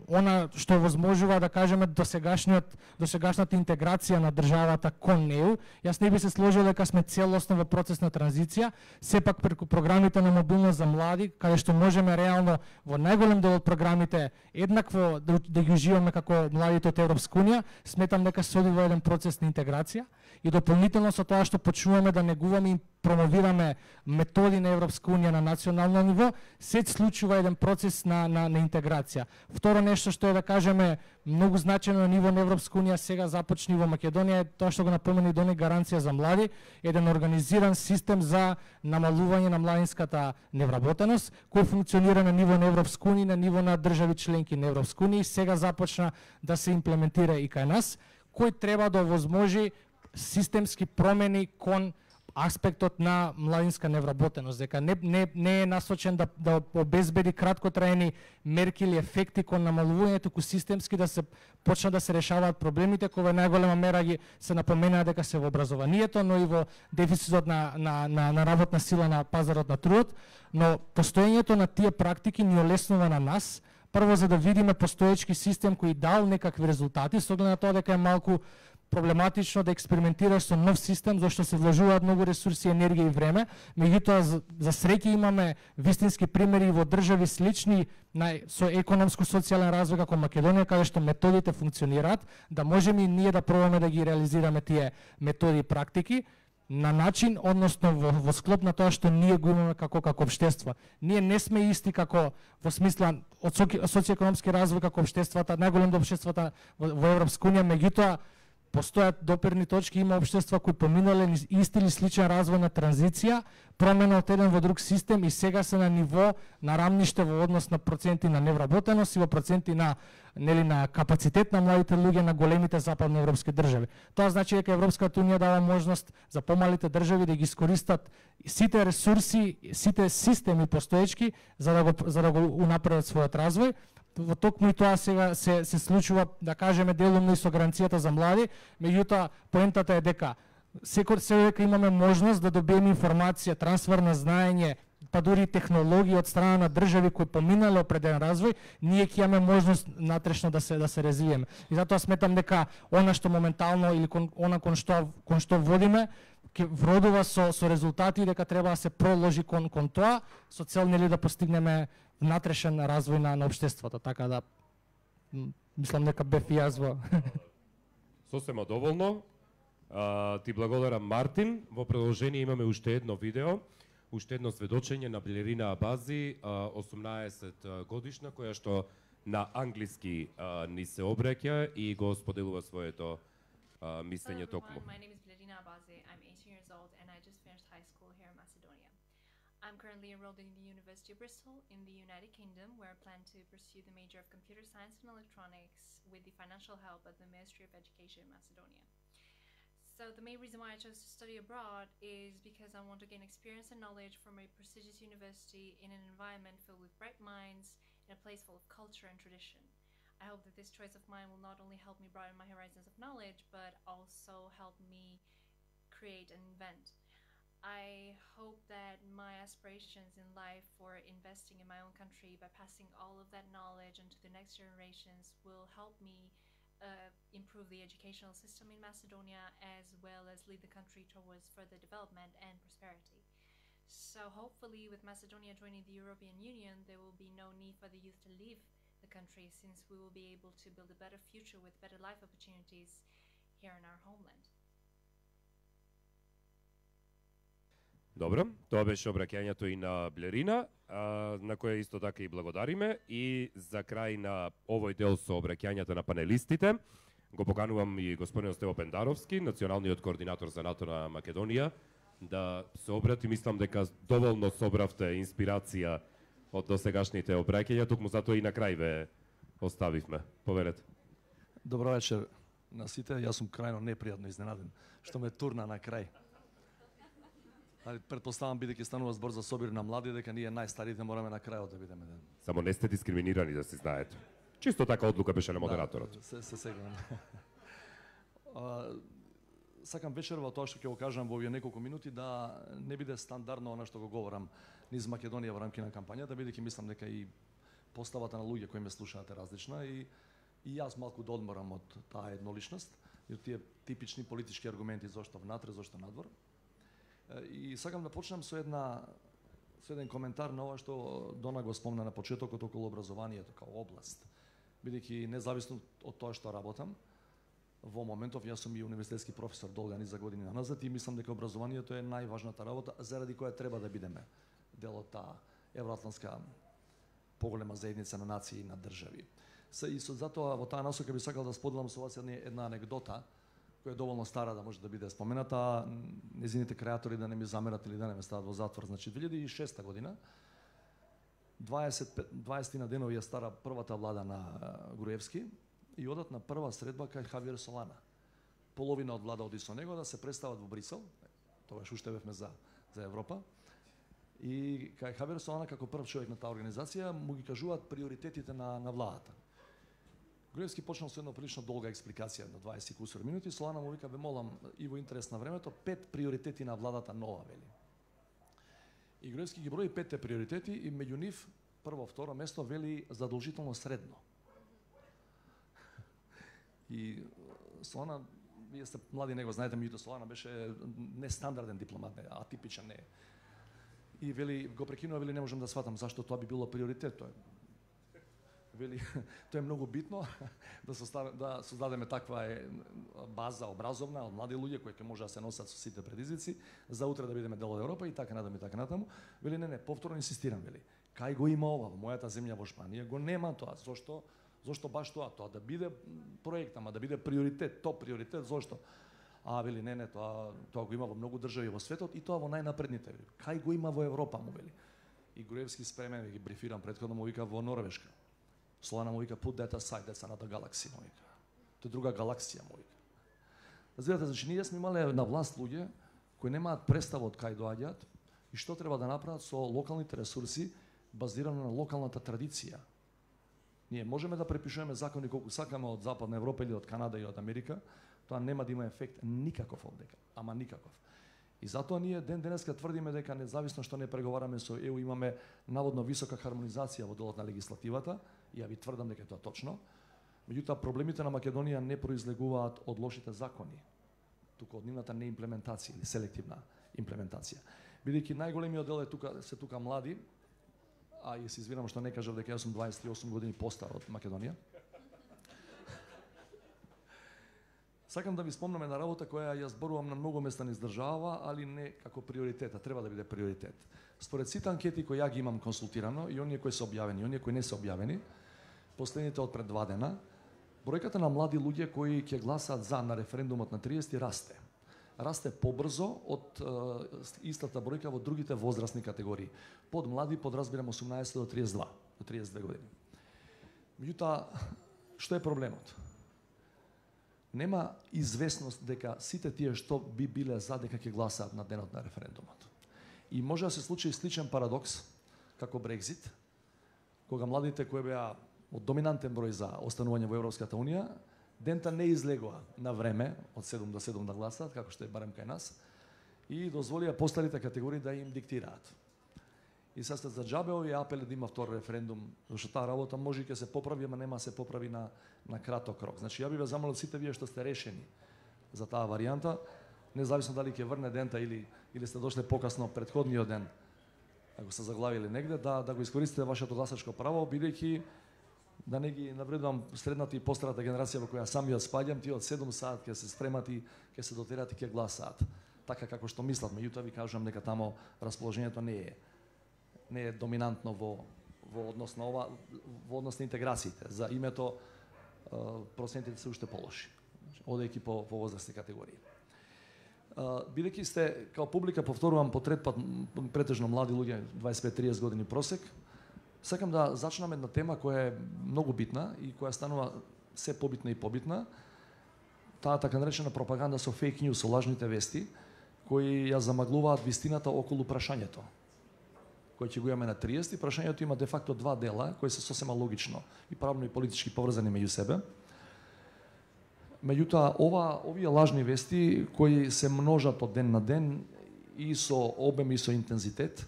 она што возможува да кажеме досегашната интеграција на државата кон неу, јас не би се сложил дека сме целосно во процес на транзиција, сепак преку програмите на мобилност за млади, каде што можеме реално во најголем дел од програмите еднакво да ги уживаме како младите од Европска унија, сметам дека се оди во еден процес на интеграција и дополнително со тоа што почнуваме да негуваме и промовираме методи на Европска унија на национално ниво, се случува еден процес на интеграција. Второ нешто што е да кажеме многу значено на ниво на Европска унија сега започни во Македонија е тоа што го напомена и Дони гаранција за млади, еден организиран систем за намалување на младинската невработеност кој функционира на ниво на Европска унија, на ниво на држави членки на Европска унија и сега започна да се имплементира и кај нас, кој треба да овозможи системски промени кон аспектот на младинска невработеност, дека не е насочен да обезбеди краткотраени мерки или ефекти кон намалувањето, туку системски да се почна да се решаваат проблемите кои во најголема мера ги се напоменаа дека се во образованието, но и во дефицитот на работна сила на пазарот на трудот, но постоењето на тие практики ни олеснува на нас, прво за да видиме постоечки систем кој дал некакви резултати, со оглед на тоа дека е малку проблематично да експериментираш со нов систем, зашто се вложуваат многу ресурси, енергија и време. Меѓутоа, за среќа имаме вистински примери во држави слични со економско-социјален развој како Македонија, каде што методите функционираат, да можеме и ние да пробаме да ги реализираме тие методи и практики. на начин, односно во склоп на тоа што ние го имаме како општество. Ние не сме исти како во смисла од социјекономски развој како општествата, најголемите општествата во Европска унија, меѓутоа постојат доперни точки, има општества кои поминале исти или сличен развој на транзиција, промена од еден во друг систем и сега се на ниво на рамниште во однос на проценти на невработеност и во проценти на на капацитет на младите луѓе на големите западни европски држави. Тоа значи дека Европската унија дава можност за помалите држави да ги искористат сите ресурси, сите системи постоечки за да го унапредат својот развој. Во токму и тоа сега се случува, да кажеме, делумно и со гаранцијата за млади, меѓутоа поентата е дека дека имаме можност да добиеме информација, трансфер на знаење, па дури технологии од страна на држави кои поминале определен развој, ние ќе имаме можност натрешно да се развиеме. И затоа сметам дека она што моментално или кон што водиме ќе вродува со резултати, дека треба да се проложи кон тоа со цел да постигнеме внатрешен развој на општеството, така да мислам дека бев и јас во Сосема доволно. Ти благодарам, Мартин. Во продолжение имаме уште едно видео, уште едно сведочење на Балерина Абази, 18 годишна, која што на англиски ни се обраќа и го споделува своето мислење токму. My name is Ballerina Abazi. I'm 18 years old and I just finished high school here in Macedonia. I'm currently enrolled in the University of Bristol in the United Kingdom, where I plan to pursue the major of Computer Science and Electronics with the financial help of the Ministry of Education in Macedonia. So the main reason why I chose to study abroad is because I want to gain experience and knowledge from a prestigious university in an environment filled with bright minds, in a place full of culture and tradition. I hope that this choice of mine will not only help me broaden my horizons of knowledge, but also help me create and invent. I hope that my aspirations in life for investing in my own country by passing all of that knowledge onto the next generations will help me improve the educational system in Macedonia, as well as lead the country towards further development and prosperity. So hopefully with Macedonia joining the European Union, there will be no need for the youth to leave the country, since we will be able to build a better future with better life opportunities here in our homeland. Добро, тоа беше обраќањето и на Балерина, на која исто така и благодариме. И за крај на овој дел со обраќањата на панелистите, го поканувам и господин Стево Пендаровски, националниот координатор за НАТО на Македонија, да се обрати. Мислам дека доволно собравте инспирација од досегашните обраќања, токму затоа и на крај ве оставивме. Поверете. Добро вечер на сите. Јас сум крајно непријатно изненаден што ме турна на крај. Предпоставам, бидејќи станува збор за собир на млади, дека ние најстарите мораме на крајот да бидеме. Само не сте дискриминирани, да се знаете. Чисто така одлука беше на модераторот. Да, се сегам. Сакам вечерва тоа што ќе го кажам во овие неколку минути да не биде стандардно она што го говорам низ Македонија во рамки на кампањата, бидејќи мислам дека и поставата на луѓе кои ме слушаат е различна и јас малку да одморам од таа едноличност и од тие типични политички аргументи зошто внатре, зошто надвор. И сакам да почнам со еден коментар на ова што Дона го спомна на почетокот околу образованието као област. Бидејќи независно од тоа што работам, во моментов јас сум и универзитетски професор долга низа години назад и мислам дека образованието е најважната работа заради која треба да бидеме дел од таа евроатлантска поголема заедница на нации и на држави. И затоа во таа насока би сакал да споделам со вас една анегдота која е доволно стара да може да биде спомената, незините креатори да не ми замерат или да не ме стават во затвор. Значи 2006 година 20 денови ја стара првата влада на Груевски и одат на прва средба кај Хавиер Солана. Половина од влада оди со него да се представат во Брисел, тогаш уште бевме за Европа. И кај Хавиер Солана како прв човек на таа организација му ги кажуваат приоритетите на владата. Груевски почнал со една прилично долга експликација на 20 кусур минути. Солана му вика: "Бе, молам, и во интерес на времето, 5 приоритети на владата нова", вели. И Груевски ги брои 5 приоритети и меѓу нив прво, второ место вели задолжително средно. И Солана, вие сте млади, него знаете, меѓутоа Солана беше нестандарден дипломат, атипичен, не. И вели, го прекинува, вели, не можам да сватам зашто тоа би било приоритет. вели, тоа е многу битно да создадеме таква база образовна од млади луѓе кои ќе може да се носат со сите предизвици за утре да бидеме дел од Европа и така натаму. Вели не, повторно инсистирам, вели. Кај го има ова во мојата земја во Шпанија, го нема тоа. Зошто баш тоа да биде проект, ама да биде приоритет, топ приоритет, зошто? Вели не, тоа го има во многу држави во светот и тоа во најнапредните. Кај го има во Европа, му вели. И Груевски спремен, ги брифирам претходно, му вика во Норвешка. Солана му вика put that aside, that's another galaxy, му вика. Тоа е друга галаксија, му вика. Разбирате, значи ние сме имале на власт луѓе кои немаат представа од кај доаѓаат и што треба да направат со локалните ресурси базирано на локалната традиција. Ние можеме да препишуваме закони колку сакаме од Западна Европа или од Канада или од Америка, тоа нема да има ефект никаков овдека, ама никаков. И затоа ние денеска тврдиме дека независно што не преговараме со ЕУ, имаме наводно висока хармонизација во делот на легислативата, и ја ви тврдам дека тоа точно. Меѓутоа проблемите на Македонија не произлегуваат од лошите закони, туку од нивната неимплементација или селективна имплементација. Бидејќи најголемиот дел се тука млади, и се извинам што не кажав дека јас сум 28 години постар од Македонија. Сакам да ви спомнам една работа која ја зборувам на многу места низ држава, али не како приоритет, а треба да биде приоритет. Според сите анкети кои ја ги имам консултирано и оние кои се објавени, и оние кои не се објавени, последните од пред 2 дена, бројката на млади луѓе кои ќе гласаат за на референдумот на 30 расте. Расте побрзо од истата бројка во другите возрастни категории. Под млади подразбирам 18 до 32, до 32 години. Меѓутоа, што е проблемот? Нема известност дека сите тие што би биле за дека ќе гласаат на денот на референдумот. И може да се случи сличен парадокс како Брекзит, кога младите кои беа од доминантен број за останување во Европската Унија, дента не излегува на време од 7 до 7 да гласаат, како што е барем кај нас, и дозволија постарите категории да им диктираат. И сега за џабе овие апели да има втор референдум, зашто таа работа може ќе се поправи, ама нема се поправи на краток рок. Значи ја би ве замолил сите вие што сте решени за таа варијанта, независно дали ќе врне дента или сте дошле покасно претходниот ден, ако се заглавили негде, да го искористите вашето гласачко право, бидејќи да не ги навредувам средната и постарата генерација во која самиот спаѓам, тие од 7 саат ќе се спремат и ќе се дотерат и ќе гласаат. Така како што мислат, меѓутоа ви кажувам дека тамо расположението не е доминантно во однос на ова, во однос на интеграциите. За името процентите се уште полоши, одејќи по возрастни категории. Бидејќи сте као публика, повторувам по трет пат, претежно млади луѓе, 25-30 години просек, сакам да зачнам една тема која е многу битна и која станува се побитна и побитна. Таа така наречена пропаганда со фейк ньюс, со лажните вести, кои ја замаглуваат вистината околу прашањето, кој ќе го имаме на 30. Прашањето има де факто 2 дела, кои се сосема логично и правно и политички поврзани меѓу себе. Меѓутоа, овие лажни вести, кои се множат од ден на ден и со обем и со интензитет,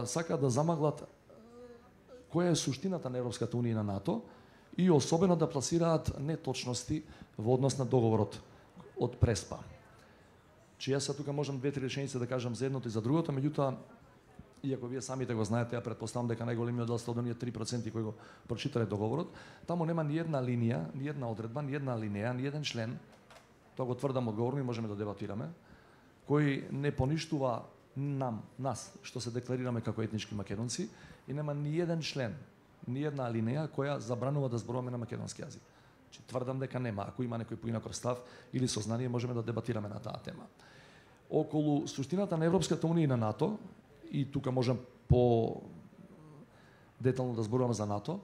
сакаат да замаглат која е суштината на Европската Унија и на НАТО и особено да пласираат неточности во однос на договорот од Преспа. Че јас тука можам 2-3 реченици да кажам за едното и за другото, меѓутоа, иако вие самите го знаете, ја претпоставам дека најголемиот дел од оние 3% кои го прочитале договорот, таму нема ни една линија, ни една одредба, ни една алинеја, ни еден член, тоа го тврдам одговорно и можеме да дебатираме, кој не поништува нас, што се декларираме како етнички македонци, и нема ни еден член, ни една алинеја која забранува да зборуваме на македонски јазик. Тврдам дека нема. Ако има некој поинаков став или сознание, можеме да дебатираме на таа тема. Околу суштината на Европската Унија и на НАТО, и тука можам по детално да зборувам за НАТО,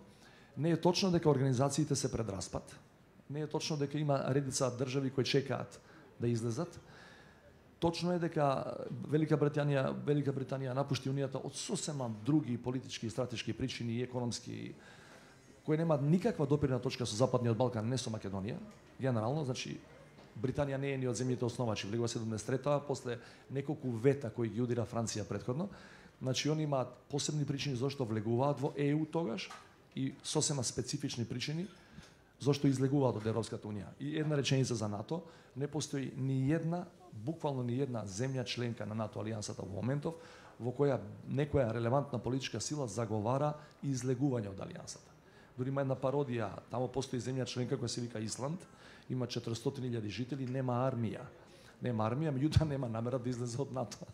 не е точно дека организациите се пред распад, не е точно дека има редица држави кои чекаат да излезат. Точно е дека Велика Британија напушти Унијата од сосема други политички и стратешки причини и економски, кои немаат никаква допирна точка со Западниот Балкан, не со Македонија. Генерално, значи, Британија не е ни од земјите основачи, влегува 73-та, после неколку вета кои ги удира Франција претходно. Значи, они имаат посебни причини зашто влегуваат во ЕУ тогаш и сосема специфични причини зашто излегуваат од Европската Унија. И една реченица за НАТО, не постои ни една, буквално ни една земја членка на НАТО алијансата во моментов во која некоја релевантна политичка сила заговара излегување од алијансата. Дури има една пародија, тамо постои земја членка која се вика Исланд, има 400.000 жители, нема армија. Нема армија, меѓутоа нема намера да излезе од НАТО.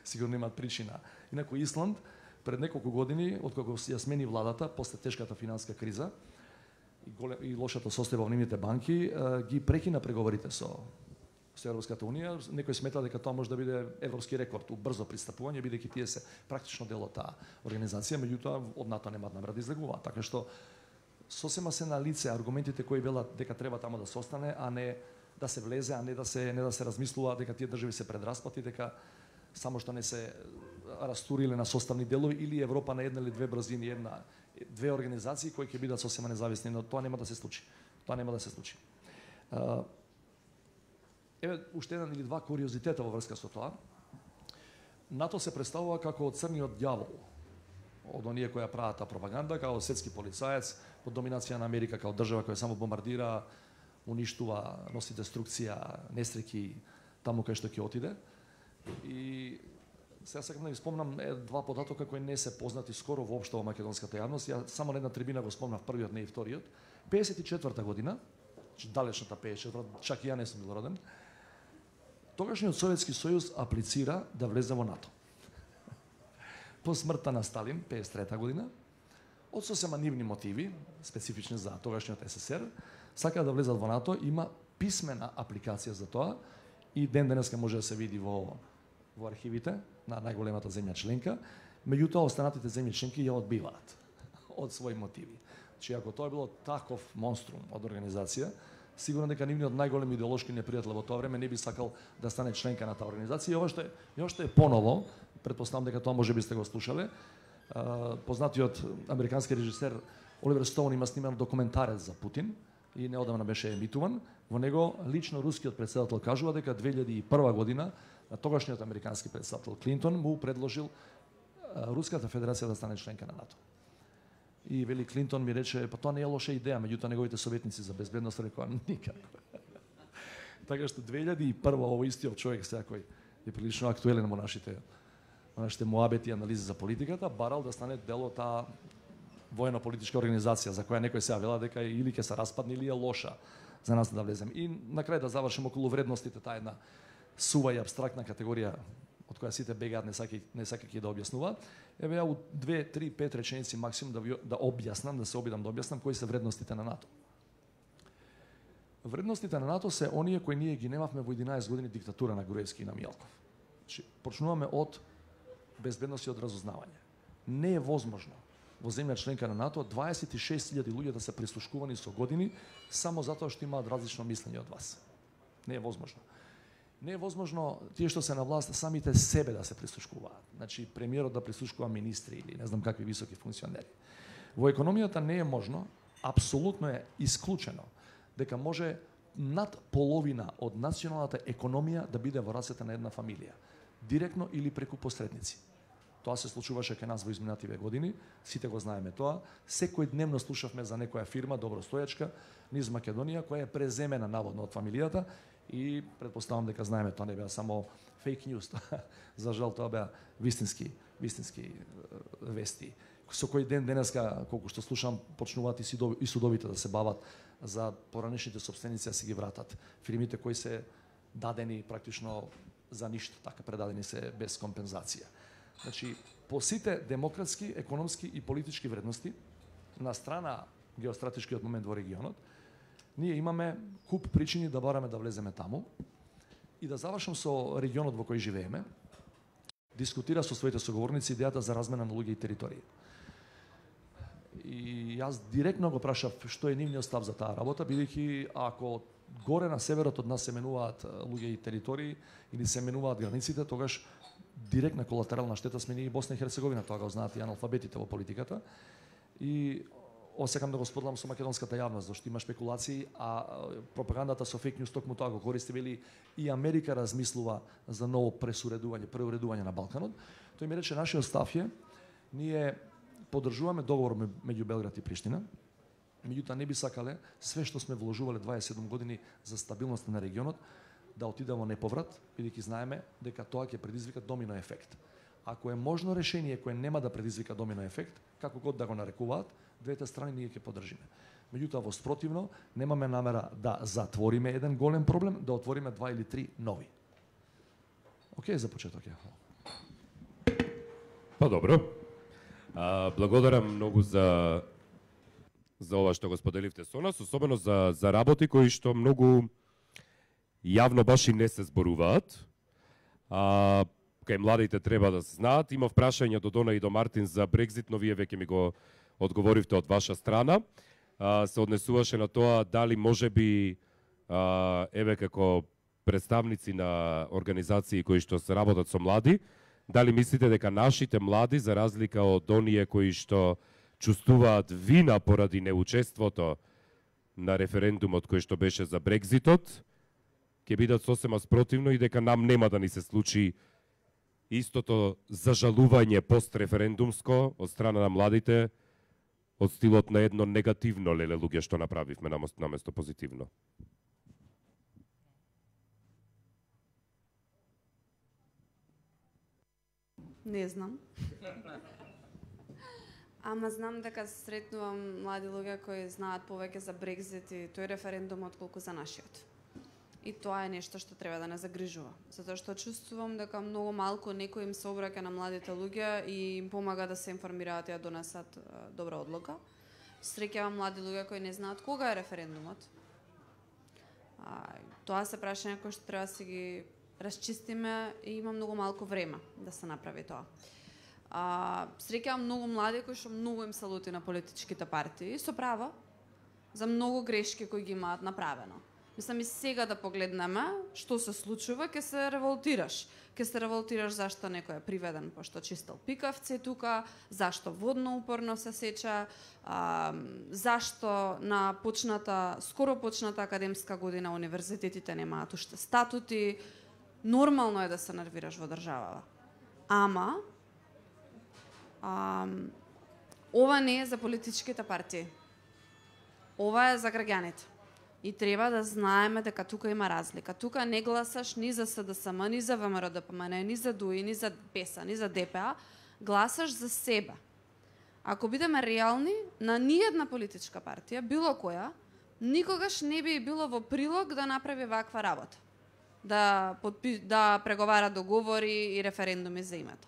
Сигурно имаат причина. Инаку Исланд пред неколку години, откако ја смени владата после тешката финанска криза и лошата состојба во нивните банки, ги прекина преговорите со Европската унија. Некој смета дека тоа може да биде европски рекорд у брзо пристапување, бидејќи тие се практично дел од таа организација, меѓутоа од НАТО немаат намера да излегуваат. Така што сосема се на лице аргументите кои велат дека треба тамо да се остане, а не да се влезе, а не да се размислува дека тие држави се предраспати, дека само што не се растуриле на составни делови или Европа на една или две брзини, две организации кои ќе бидат сосема независни, но тоа нема да се случи. Тоа нема да се случи. Еве уште еден или два куриозитета во врска со тоа. НАТО се представува како црниот ѓавол од оние кои ја прават пропаганда, како светски полицаец под доминација на Америка, како држава која само бомбардира, уништува, носи деструкција, несреќи таму кај што ќе отиде. И сега сакам да ви спомнам два податока кои не се познати скоро воопшто во македонската јавност. Ја само на една трибина го спомнав првиот, не и вториот. 54-та година, далечната 54-та, чак и ја не сум бил роден, тогашниот Советски сојуз аплицира да влезе во НАТО. По смртта на Сталин, 53-та година, од сосема нивни мотиви, специфични за тогашниот СССР, сакаат да влезат во НАТО, има писмена апликација за тоа и ден денеска може да се види во архивите на најголемата земја членка, меѓутоа останатите земји членки ја одбиваат од своји мотиви. Че ако тоа било таков монструм од организација, сигурно дека нивниот најголем идеолошки непријател во тоа време не би сакал да стане членка на таа организација. И ова што е поново, претпоставам дека тоа може би сте го слушале, познатиот американски режисер Оливер Стоун има сниман документарец за Путин и неодамна беше емитуван. Во него лично рускиот претседател кажува дека 2001 година на тогашниот американски претседател Клинтон му предложил Руската федерација да стане членка на НАТО. И вели Клинтон ми рече, па тоа не е лоша идеја, меѓутоа неговите советници за безбедност рекоа никако. Така што 2001 овој истиот човек сега кој е прилично актуелен во нашите муабети и анализи за политиката, барал да стане дел од таа воено-политичка организација за која некој сега вела дека или ќе се распадне или е лоша за нас да влезем. И на крај да завршим околу вредностите, таа една сува и абстрактна категорија од која сите бегаат, не сакајќи да објаснуваат. Еве ја у 2, 3, 5 реченици максимум да објаснам, да се обидам да објаснам кои се вредностите на НАТО. Вредностите на НАТО се оние кои ние ги немавме во 11 години диктатура на Груевски и на Мијалков. Почнуваме од безбедност и од разузнавање. Не е возможно во земја членка на НАТО 26.000 луѓе да се прислушкувани со години само затоа што имаат различно мислење од вас. Не е возможно. Не е возможно тие што се на власт самите себе да се прислушкуваат. Значи премиерот да прислушкува министри или не знам какви високи функционери. Во економијата не е можно, апсолутно е исклучено дека може над половина од националната економија да биде во рацете на една фамилија, директно или преку посредници. Тоа се случуваше кај нас во изминативе години, сите го знаеме тоа. Секој дневно слушавме за некоја фирма добростоечка низ Македонија која е преземена наводно од фамилијата и претпоставам дека знаеме тоа не беа само фейк ньюс. За жал тоа беа вистински вести. Со кој ден денеска, колку што слушам, почнуваат и судовите да се бават за поранешните сопственици да се ги вратат. Фирмите кои се дадени практично за ништо, така предадени се без компензација. Значи, по сите демократски, економски и политички вредности, на страна геостратешкиот момент во регионот, ние имаме куп причини да бараме да влеземе таму. И да завршам со регионот во кој живееме, дискутира со своите соговорници идејата за размена на луѓе и територии. И јас директно го прашав што е нивниот став за таа работа, бидејќи ако горе на северот од нас се менуваат луѓе и територии или се менуваат границите, тогаш директна колатерална штета сме ние и Босна и Херцеговина, тоа го знаат и аналфабетите во политиката. И осекам да го споделам со македонската јавност, зашто има шпекулации, а пропагандата со фейк ньюс токму тоа го користи, вели и Америка размислува за ново преуредување на Балканот. Тој ми рече нашиот став е, ние поддржуваме договор меѓу Белград и Приштина, меѓутоа не би сакале све што сме вложувале 27 години за стабилност на регионот да отиде во неповрат, бидејќи знаеме дека тоа ќе предизвика домино ефект. Ако е можно решение кое нема да предизвика домино ефект, како год да го нарекуваат, двете страни ние ќе поддржиме. Меѓутоа, во спротивно, немаме намера да затвориме еден голем проблем, да отвориме 2 или 3 нови. Океј, за почеток е. Па добро. Благодарам многу за ова што го споделивте со нас, особено за работи кои што многу јавно баш и не се зборуваат. Кај младите треба да знаат. Има прашања до Дона и до Мартин за Брекзит, но вие веќе ми го одговоривте од ваша страна. Се однесуваше на тоа дали можеби еве како представници на организации кои што се работат со млади, дали мислите дека нашите млади, за разлика од оние кои што чувствуваат вина поради неучеството на референдумот кој што беше за Брекзитот, ќе бидат сосема спротивно и дека нам нема да ни се случи истото зажалување постреферендумско од страна на младите, од стилот на едно негативно леле луѓе што направивме наместо позитивно. Не знам. Ама знам дека сретнувам млади луѓе кои знаат повеќе за Брекзит и тој референдум отколку за нашиот. И тоа е нешто што треба да не загрижува. Затоа што чувствувам дека многу малку некој им се обраќа на младите луѓе и им помага да се информираат и да донесат добра одлука. Среќавам млади луѓе кои не знаат кога е референдумот. Тоа се прашања кои што треба да си ги расчистиме и има многу малку време да се направи тоа. Среќавам многу млади кои што многу им се лути на политичките партии, со право, за многу грешки кои ги имаат направено. Мислам и сега да погледнеме што се случува, ќе се револтираш. Ќе се револтираш зашто некој е приведен пошто чистел пикавци тука, зашто водно упорно се сеча, зашто на скоро почната академска година универзитетите немаат уште статути. Нормално е да се нервираш во државава. Ама ова не е за политичките партии. Ова е за граѓаните. И треба да знаеме дека тука има разлика. Тука не гласаш ни за СДСМ, ни за ВМРО-ДПМН, ни за ДУИ, ни за ПЕСА, ни за ДПА. Гласаш за себе. Ако бидеме реални, на ниедна политичка партија, било која, никогаш не би било во прилог да направи ваква работа. Да преговара договори и референдуми за името.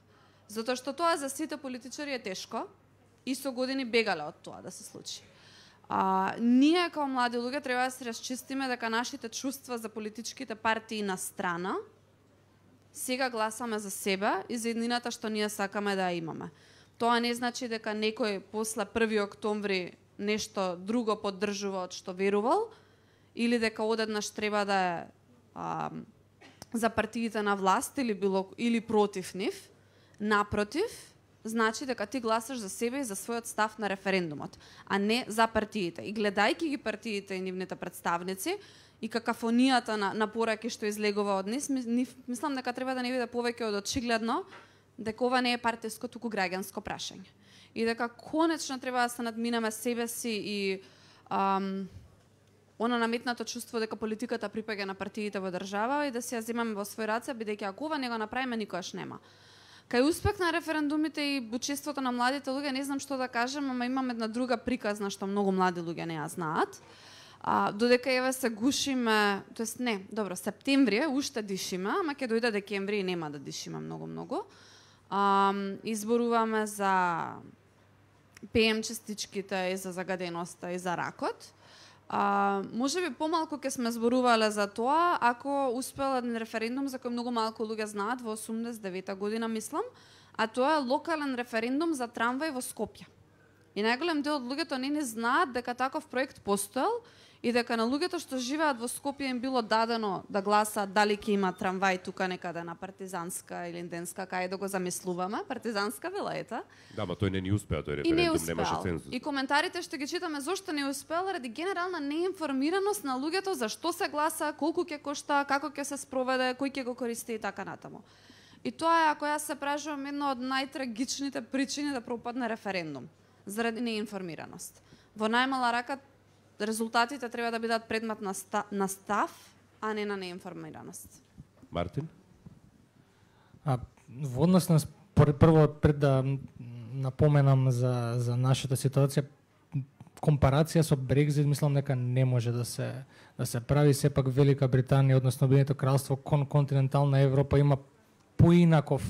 Затоа што тоа за сите политичари е тешко и со години бегале од тоа да се случи. Ние како млади луѓе треба да се расчистиме дека нашите чувства за политичките партии на страна, сега гласаме за себе и за еднината што ние сакаме да ја имаме. Тоа не значи дека некој после 1 октомври нешто друго поддржува од што верувал или дека одеднаш треба да е за партиите на власт или против нив. Напротив, значи дека ти гласаш за себе и за својот став на референдумот, а не за партиите. И гледајќи ги партиите и нивните представници и какафонијата на пораки што излегува од мислам дека треба да не биде повеќе од очигледно дека ова не е партиско, туку граѓанско прашање. И дека конечно треба да се надминеме себе си и она наметнато чувство дека политиката припаѓа на партиите во држава и да се ја земаме во свој раце, бидејќи ако ова не го направиме, никогаш нема. Кај успех на референдумите и учеството на младите луѓе, не знам што да кажам, ама имам една друга приказна што многу млади луѓе не ја знаат. Додека еве се гушиме, тоест не, добро, септември уште дишиме, ама ќе дојде декември и нема да дишиме многу. Изборуваме за ПМ частичките и за загаденоста и за ракот. Можеби помалку ќе сме зборувале за тоа ако успел еден референдум за кој многу малку луѓе знаат во 89-та година, мислам, а тоа е локален референдум за трамвај во Скопје. И најголем дел од луѓето не знаат дека таков проект постоел и дека на луѓето што живеат во Скопје им било дадено да гласаат дали ќе има трамвај тука некаде на Партизанска или Инденска, кај да го замислуваме, Партизанска велаета. Да, ма тој не успеа, тој референдум немаше цензус. И коментарите што ги читаме зошто не успел, ради генерална неинформираност на луѓето за што се гласа, колку ќе кошта, како ќе се спроведе, кој ќе го користи и така натаму. И тоа е, ако јас се прашувам, една од најтрагичните причини да пропадне референдум, заради неинформираност. Во најмала рака резултатите треба да бидат предмет на став, а не на неинформираност. Мартин? Во однос на прво пред да напоменам за нашата ситуација, компарација со Брекзит мислам дека не може да се прави. Сепак Велика Британија, односно Обединето кралство кон континентална Европа има поинаков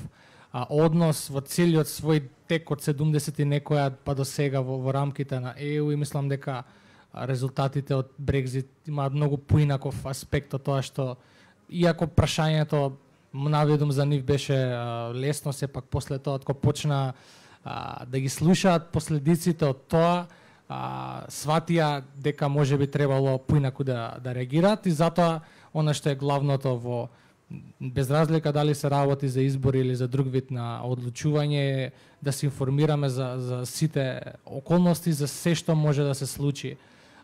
однос во целиот свој тек од 70 и некоја па до сега во рамките на ЕУ, и мислам дека резултатите од Брекзит имаат многу поинаков аспект од тоа што, иако прашањето наведум за нив беше лесно, сепак после тоа кога почна да ги слушаат последиците од тоа, сватија дека може би требало поинаку да реагираат, и затоа она што е главното во, без разлика дали се работи за избори или за друг вид на одлучување, да се информираме за сите околности, за се што може да се случи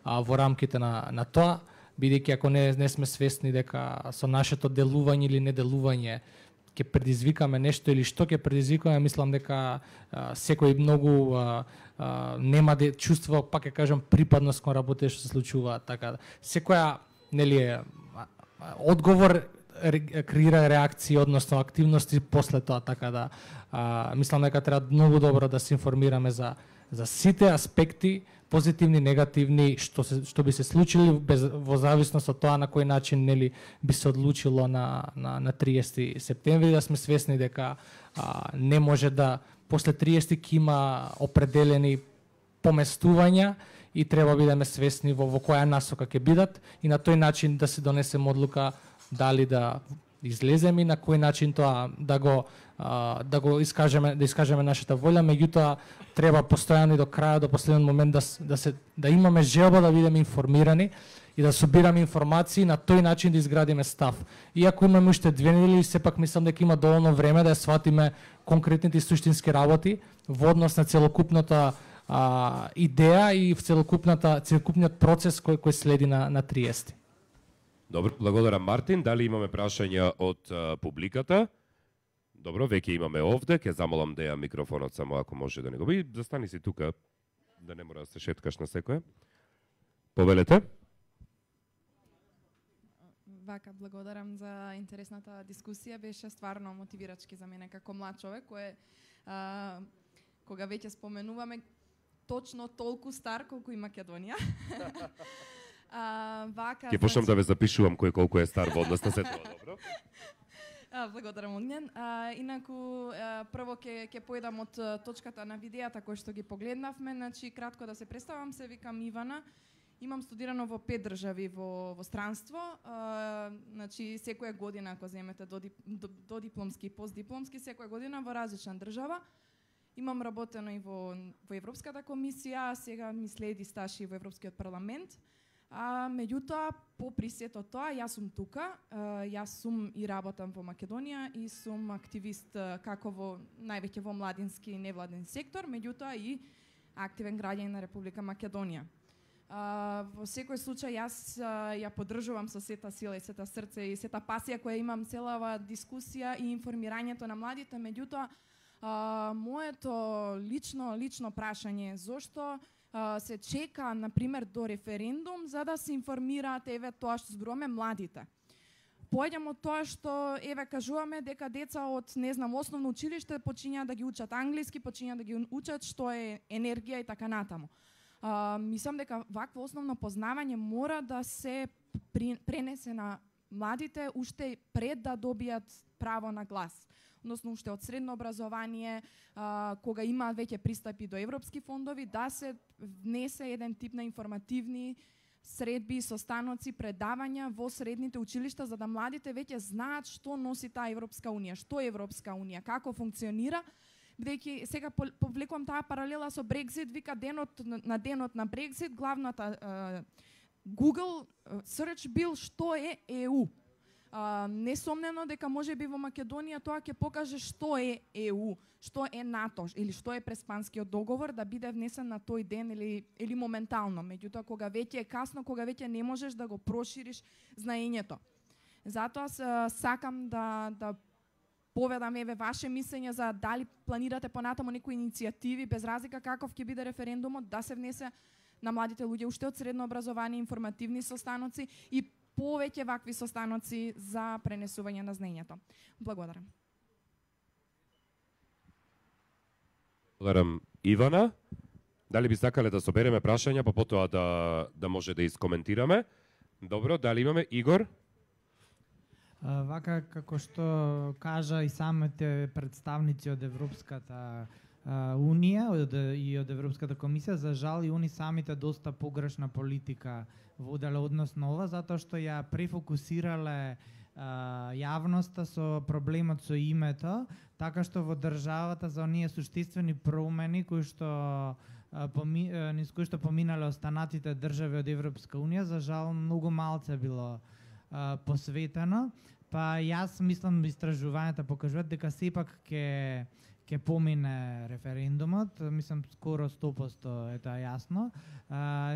во рамките на тоа, бидејќи ако не сме свесни дека со нашето делување или неделување ќе предизвикаме нешто или што ќе предизвикаме, мислам дека секој многу нема да чувства, пак ќе кажам, припадност кон работите што се случуваат. Така секоја одговор креира реакции, односно активности после тоа, така да мислам дека треба многу добро да се информираме за сите аспекти, позитивни, негативни, што би се случили во зависност од тоа на кој начин би се одлучило на 30 септември, да сме свесни дека не може да после 30 ќе има определени поместувања и треба бидеме свесни во која насока ќе бидат, и на тој начин да се донесеме одлука дали да излеземе и на кој начин тоа да го искажеме нашата волја. Меѓутоа треба постојано и до крајот, до последниот момент да имаме желба да бидеме информирани и да собираме информации, на тој начин да изградиме став. Иако имаме уште 2 недели, сепак мислам дека има доволно време да ја сватиме конкретните и суштински работи во однос на целокупната идеја и в целокупниот процес кој следи на 30. Добро, благодарам Мартин. Дали имаме прашања од публиката? Добро, веќе имаме овде, ќе замолам Деја микрофонот само ако може да не го би. Застани си тука, да не мора да се шеткаш на секоја. Повелете. Вака, благодарам за интересната дискусија, беше стварно мотивирачки за мене како млад човек, кој кога веќе споменуваме точно толку стар колку и Македонија. Ќе почнам да ве запишувам кој колку е стар во однос на се тоа, добро? Благодарам, Огнен. Инаку, прво ќе поедам од точката на видеата кој што ги погледнавме. Значи, кратко да се представам, се викам Ивана. Имам студирано во 5 држави во странство. Значи, секоја година, ако земете до дипломски и постдипломски, секоја година во различна држава. Имам работено и во Европската комисија, сега ми следи стаж и во Европскиот парламент. Меѓутоа, по присето тоа, јас сум тука, јас сум и работам во Македонија и сум активист како највеќе во младински и невладен сектор, меѓутоа и активен граѓанин на Република Македонија. Во секој случај јас ја поддржувам со сета сила и сета срце и сета пасија која имам целава дискусија и информирањето на младите, меѓутоа моето лично прашање е зошто се чека, например, до референдум за да се информираат тоа што зборуваме младите. Поаѓам од тоа што кажуваме дека деца од основно училиште почињаат да ги учат англиски, почињаат да ги учат што е енергија и така натаму. Мислам дека вакво основно познавање мора да се пренесе на младите уште пред да добијат право на глас. Односно уште од средно образование, кога имаат веќе пристапи до европски фондови, да се внесе еден тип на информативни средби, состаноци, предавања во средните училишта, за да младите веќе знаат што носи таа Европска унија, што е Европска унија, како функционира, бидејќи сега повлекувам таа паралела со Брекзит, вика денот на Брекзит, главната Google search бил што е ЕУ. Несомнено дека може би во Македонија тоа ќе покаже што е ЕУ, што е НАТО или што е Преспанскиот договор, да биде внесен на тој ден или моментално. Меѓутоа кога веќе е касно, кога веќе не можеш да го прошириш знаењето. Затоа сакам да поведам ваше мислење за дали планирате понатаму некои иницијативи, без разлика каков ќе биде референдумот, да се внесе на младите луѓе уште од средно образование информативни состаноци и повеќе вакви состаноци за пренесување на знаењето. Благодарам. Благодарам Ивана. Дали би сакале да собереме прашања, па потоа да може да искоментираме? Добро, дали имаме Игор? Вака како што кажа и самите представници од Европската Унија и од Европската комисија, за жал и они самите доста погрешна политика воделе односно ова, затоа што ја префокусирале јавноста со проблемот со името, така што во државата за оние суштинствени промени кои што низ кои што поминале останатите држави од Европска Унија, за жал многу малце било посветено. Па јас мислам истражувањата покажуваат дека сепак ќе помине референдумот, мислам скоро 100% е тоа јасно.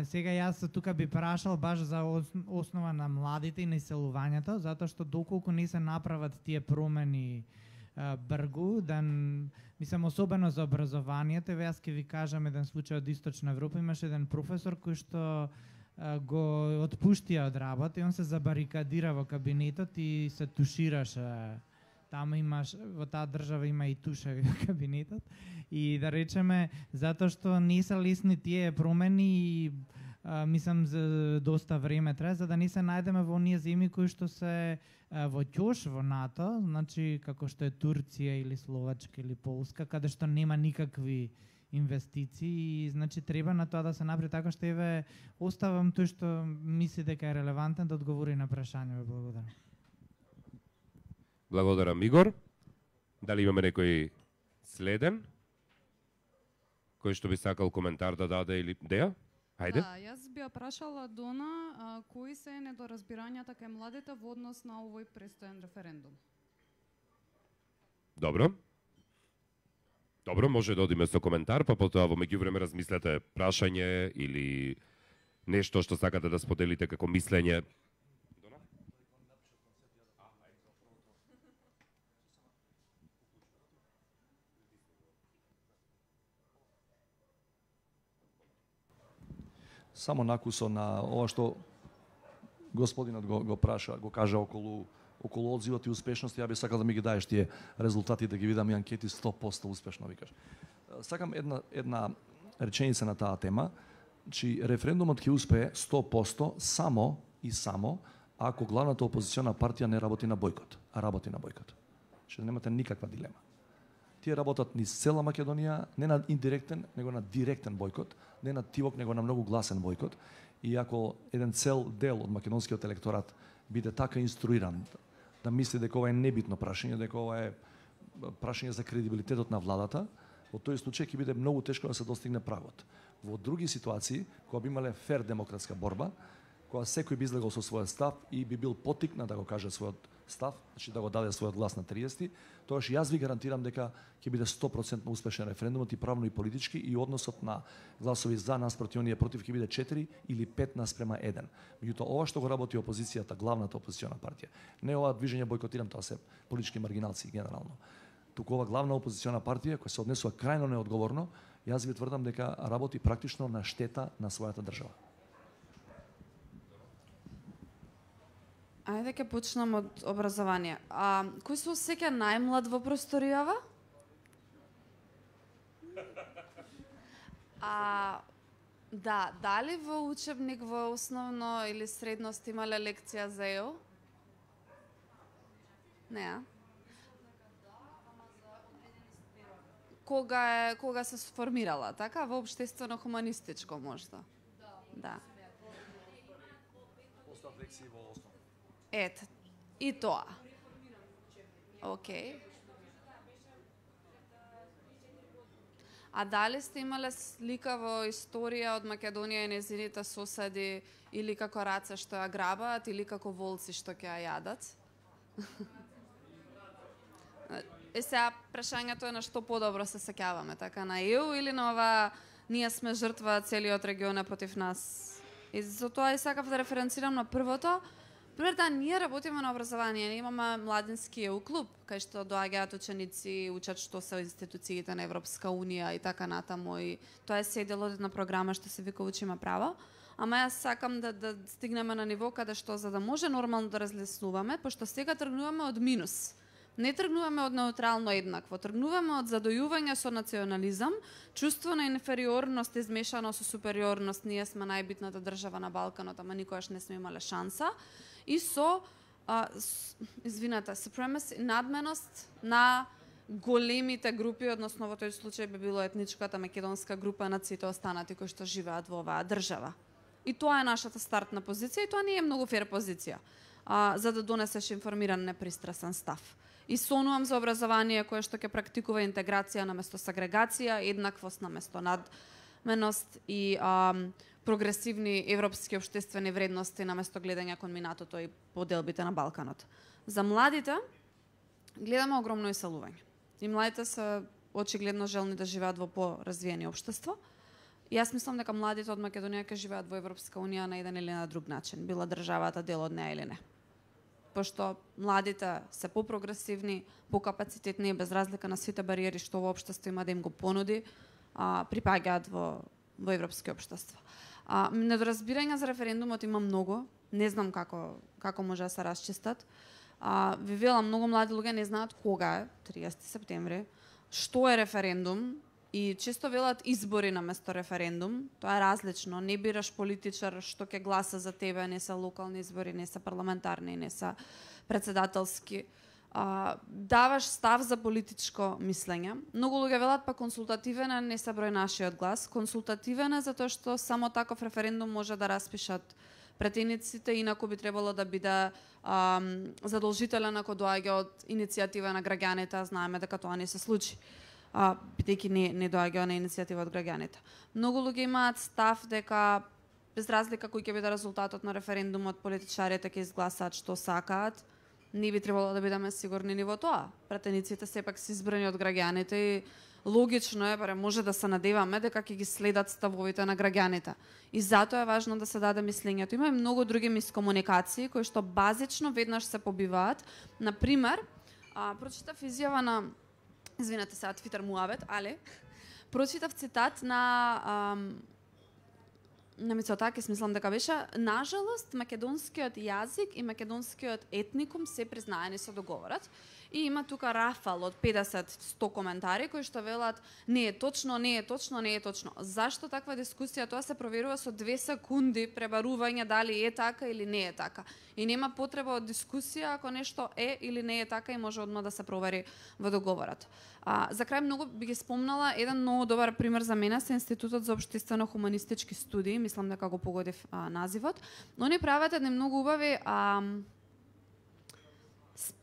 Сега јас тука би прашал баш за основа на младите и населувањето, затоа што доколку не се направат тие промени бргу, мислам особено за образованието, јас ќе ви кажам еден случај од Источна Европа, имаше еден професор кој што го отпуштија од работа и он се забарикадира во кабинетот и се тушираше. Таму имаш, во таа држава има и туша во кабинетот. И да речеме, затоа што не се лесни тие промени и мислам за доста време трае, за да не се најдеме во оние земји кои што се во ќош во НАТО, значи како што е Турција или Словачка или Полска, каде што нема никакви инвестиции и значи треба на тоа да се направи така што еве оставам тој што мисли дека е релевантен да одговори на прашањето. Благодарам. Благодарам Игор. Дали имаме некој следен кој што би сакал коментар да даде или Деја? Хајде. Да, јас би ја прашала Дона кои се недоразбирањата кај младите во однос на овој престоен референдум. Добро. Добро, може да одиме со коментар, па потоа во меѓувреме размислете прашање или нешто што сакате да споделите како мислење. Само накусо на ова што господинот го праша, го кажа околу одзивот и успешност, ја би сакал да ми ги даеш тие резултати, да ги видам и анкети 100% успешно, викаш. Сакам една реченица на таа тема, че референдумот ќе успее 100% само и само ако главната опозициона партија не работи на бојкот, а работи на бојкот. Че немате никаква дилема. Тие работат низ цела Македонија, не на индиректен, него на директен бојкот, не на тивок, него на многу гласен бојкот. И ако еден цел дел од македонскиот електорат биде така инструиран да мисли дека ова е небитно прашање, дека ова е прашање за кредибилитетот на владата, во тој случај ќе биде многу тешко да се достигне прагот. Во други ситуации, кога би имале фер демократска борба, кога секој би излегол со својот став и би бил потикнат да го каже својот став, значи да го даде својот глас на 30, тогаш јас ви гарантирам дека ќе биде 100% успешен референдумот и правно и политички и односот на гласови за наспроти оние против ќе биде 4 или 5:1. Меѓутоа ова што го работи опозицијата, главната опозициона партија, не ова движење бойкотирам, тоа се политички маргиналци генерално. Туку ова главна опозициона партија која се однесува крајно неодговорно, јас ви тврдам дека работи практично на штета на својата држава. Ајде ќе почнам од образование. Кој се осеќа најмлад во просторијава? Да, дали во учебник во основно или средно сте имале лекција за ЕО? Не, Кога се сформирала, така? Во општествено-хуманистичко можда? Да. Остав лекции во основа. Ете, и тоа. Океј. А дали сте имале слика во историја од Македонија и незините соседи или како раце што ја грабаат или како волци што ќе ја јадат? Сега прашањето е на што подобро се сеќаваме, така на ЕУ или на ова ние сме жртва, целиот регион е против нас? И за тоа и сакав да референцирам на првото. Пример, да, ние работиме на образование, ние имаме младински ЕУ клуб, кај што доаѓаат ученици, учат што се институциите на Европска Унија и така натаму, и тоа е се дел од една програма што се вика Учиме право. Ама јас сакам да стигнеме на ниво каде што за да може нормално да разлеснуваме, пошто сега тргнуваме од минус. Не тргнуваме од неутрално еднакво, тргнуваме од задојување со национализам, чувство на инфериорност измешано со супериорност, ние сме најбитната држава на Балканот, ама никогаш не сме имале шанса, и со supremacy, надменост на големите групи, односно во тој случај би било етничката македонска група над сите останати кои што живеат во оваа држава. И тоа е нашата стартна позиција и тоа не е многу фер позиција, за да донесеш информиран, непристрасен став. И сонувам за образование кое што ќе практикува интеграција наместо сегрегација, еднаквост наместо надменост и прогресивни европски општествени вредности наместо гледање кон минатото и поделбите на Балканот. За младите гледаме огромно иселување. И младите се очигледно желни да живеат во поразвиени општества. И јас мислам дека младите од Македонија ќе живеат во Европска унија на еден или на друг начин, била државата дел од неа или не. Пошто младите се попрогресивни, покапацитетни и без разлика на сите бариери што во општество има да им го понуди, припаѓаат во европски општества. Недоразбирање за референдумот има многу, не знам како може да се расчистат. Ви велам, многу млади луѓе не знаат кога е 30 септември, што е референдум и често велат избори наместо референдум. Тоа е различно, не бираш политичар што ќе гласа за тебе, не се локални избори, не се парламентарни, не се председателски. Даваш став за политичко мислење. Многу луѓе велат па консултативен е, не се број нашиот глас. Консултативен е затоа што само таков референдум може да распишат претениците, инаку би требало да биде задолжителен ако доаѓа од иницијатива на граѓаните, знаеме дека тоа не се случи, бидејќи не доаѓа на иницијатива од граѓаните. Многу луѓе имаат став дека без разлика кој ќе биде резултатот на референдумот, политичарите ќе изгласаат што сакаат. Не би требало да бидеме сигурни ни во тоа. Пратениците сепак се избрани од граѓаните и логично е, барем може да се надеваме дека ќе ги следат ставовите на граѓаните. И затоа е важно да се даде мислењето. Има и многу други мискомуникации кои што базично веднаш се побиваат. Например, прочитав изјава на извинете се, Твитер муавет, але прочитав цитат на Мицотакис, мислам дека беше: нажалост, македонскиот јазик и македонскиот етникум се признаени со договорот. И има тука рафал од 50-100 коментари кои што велат не е точно, не е точно, не е точно. Зашто таква дискусија? Тоа се проверува со 2 секунди пребарување дали е така или не е така. И нема потреба од дискусија ако нешто е или не е така и може одма да се провери во договорот. За крај многу би ги спомнала еден многу добар пример за мене се Институтот за општествено-хуманистички студии, мислам дека го погодив називот. Они прават едни многу убави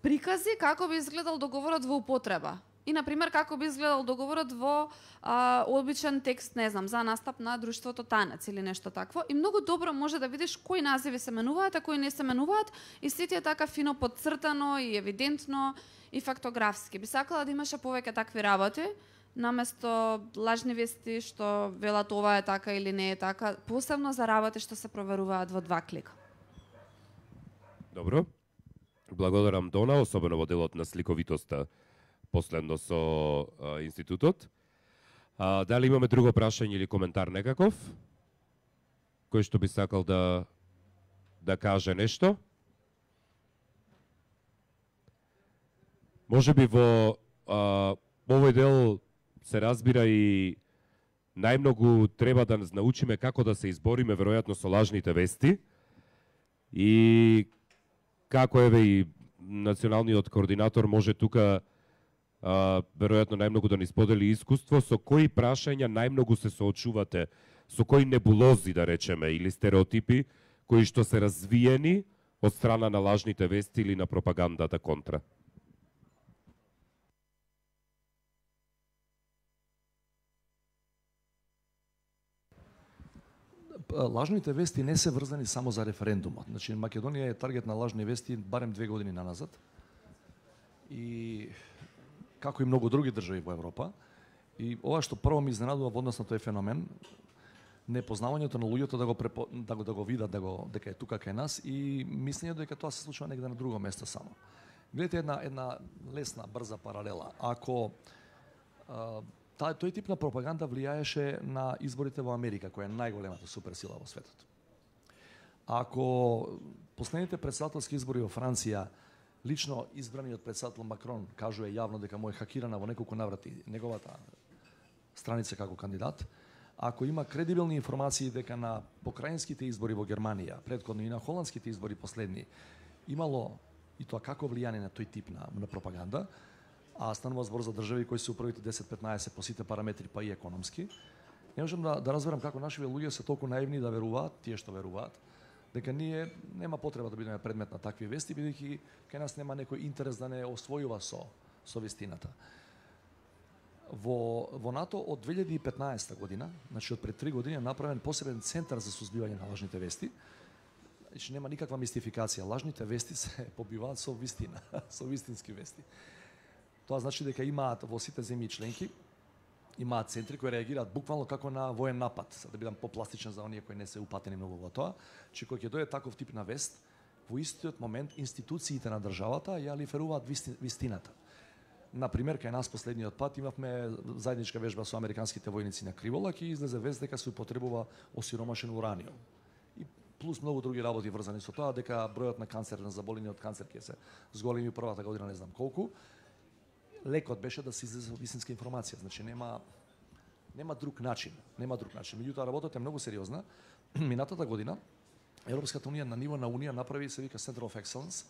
прикази како би изгледал договорот во употреба. И, например, како би изгледал договорот во обичен текст, не знам, за настап на друштвото Танец или нешто такво. И многу добро може да видиш кои називи се менуваат, а кои не се менуваат. И сите е така фино подцртано и евидентно и фактографски. Би сакала да имаше повеќе такви работи, наместо лажни вести што велат ова е така или не е така, посебно за работи што се проверуваат во 2 клика. Добро. Благодарам Дона, особено во делот на сликовитоста последно со институтот. Дали имаме друго прашање или коментар некаков? Кој што би сакал да каже нешто? Може би во овој дел се разбира и најмногу треба да научиме како да се избориме веројатно со лажните вести и како еве и националниот координатор може тука веројатно најмногу да ни сподели искуство, со кои прашања најмногу се соочувате, со кои небулози да речеме или стереотипи кои што се развиени од страна на лажните вести или на пропагандата контра. Лажните вести не се врзани само за референдумот. Значи, Македонија е таргет на лажни вести барем 2 години наназад. И како и многу други држави во Европа. И ова што прво ми изненадува во однос на тој феномен, непознавањето на луѓето да го видат дека е тука кај нас и мислењето дека тоа се случува негде на друго место само. Гледате една лесна, брза паралела. Ако тој тип на пропаганда влијаеше на изборите во Америка, која е најголемата суперсила во светот. Ако последните претседателски избори во Франција лично избраниот председател Макрон кажува јавно дека му е хакирана во неколку наврати неговата страница како кандидат, ако има кредибилни информации дека на покраинските избори во Германија, претходно и на холандските избори последни, имало и тоа како влијание на тој тип на пропаганда, а станува збор за држави кои се првите 10-15 по сите параметри, па и економски, не можам да разберам како нашиве луѓе се толку наивни да веруваат, тие што веруваат, дека ние нема потреба да бидеме предмет на такви вести, бидејќи кај нас нема некој интерес да не освојува со вистината. Во НАТО од 2015 година, значи од пред 3 години е направен посебен центар за сузбивање на лажните вести. Значи нема никаква мистификација, лажните вести се побиваат со вистина, со вистински вести. Тоа значи дека имаат во сите земји членки имаат центри кои реагираат буквално како на воен напад, да бидам попластичен за оние кои не се упатени многу во тоа, че кога ќе дојде таков тип на вест, во истиот момент институциите на државата ја лиферуваат вистината. Например, кај нас последниот пат имавме заедничка вежба со американските војници на Криволак и излезе вест дека се употребува осиромашен ураниум. И плюс многу други работи врзани со тоа, дека бројот на канцер, на заболени од канцер ќе се зголеми првата година, не знам колку. Лекот беше да се излезе вистинска информација, значи нема друг начин, Меѓутоа работата е многу сериозна. Минатата година Европската унија на ниво на унија направи се вика Center of Excellence,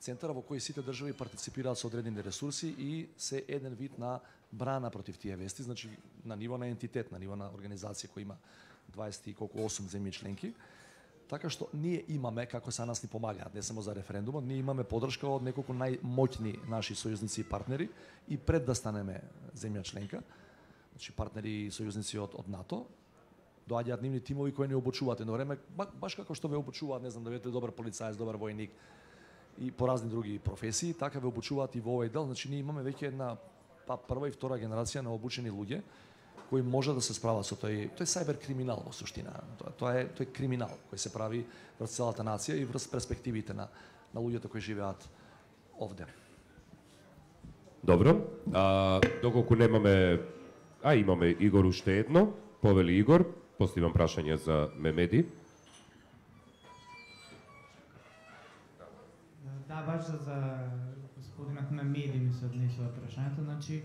центар во кој сите држави партиципираат со одредени ресурси и се еден вид на брана против тие вести, значи на ниво на ентитет, на ниво на организација која има 28 земји членки. Така што ние имаме, како са нас ни помагаат, не само за референдумот, ние имаме подршка од неколку најмоќни наши сојузници и партнери и пред да станеме земја членка, значи партнери и сојузници од НАТО, доаѓаат нивни тимови кои не обучуваат едно време, баш како што ве обучуваат, не знам, да бидете добар полицаец, добар војник и по разни други професии, така ве обучуваат и во овој дел, значи ние имаме веќе една прва и втора генерација на обучени луѓе кои може да се справат со тој сајбер криминал во суштина. Тоа е криминал кој се прави врз целата нација и врз перспективите на луѓето кои живеат овде. Добро. Доколку немаме, имаме Игор уште едно, повели Игор, после имам прашање за Мемеди. Да, баш за господинот Мемеди ми се однесува прашањето. Значи,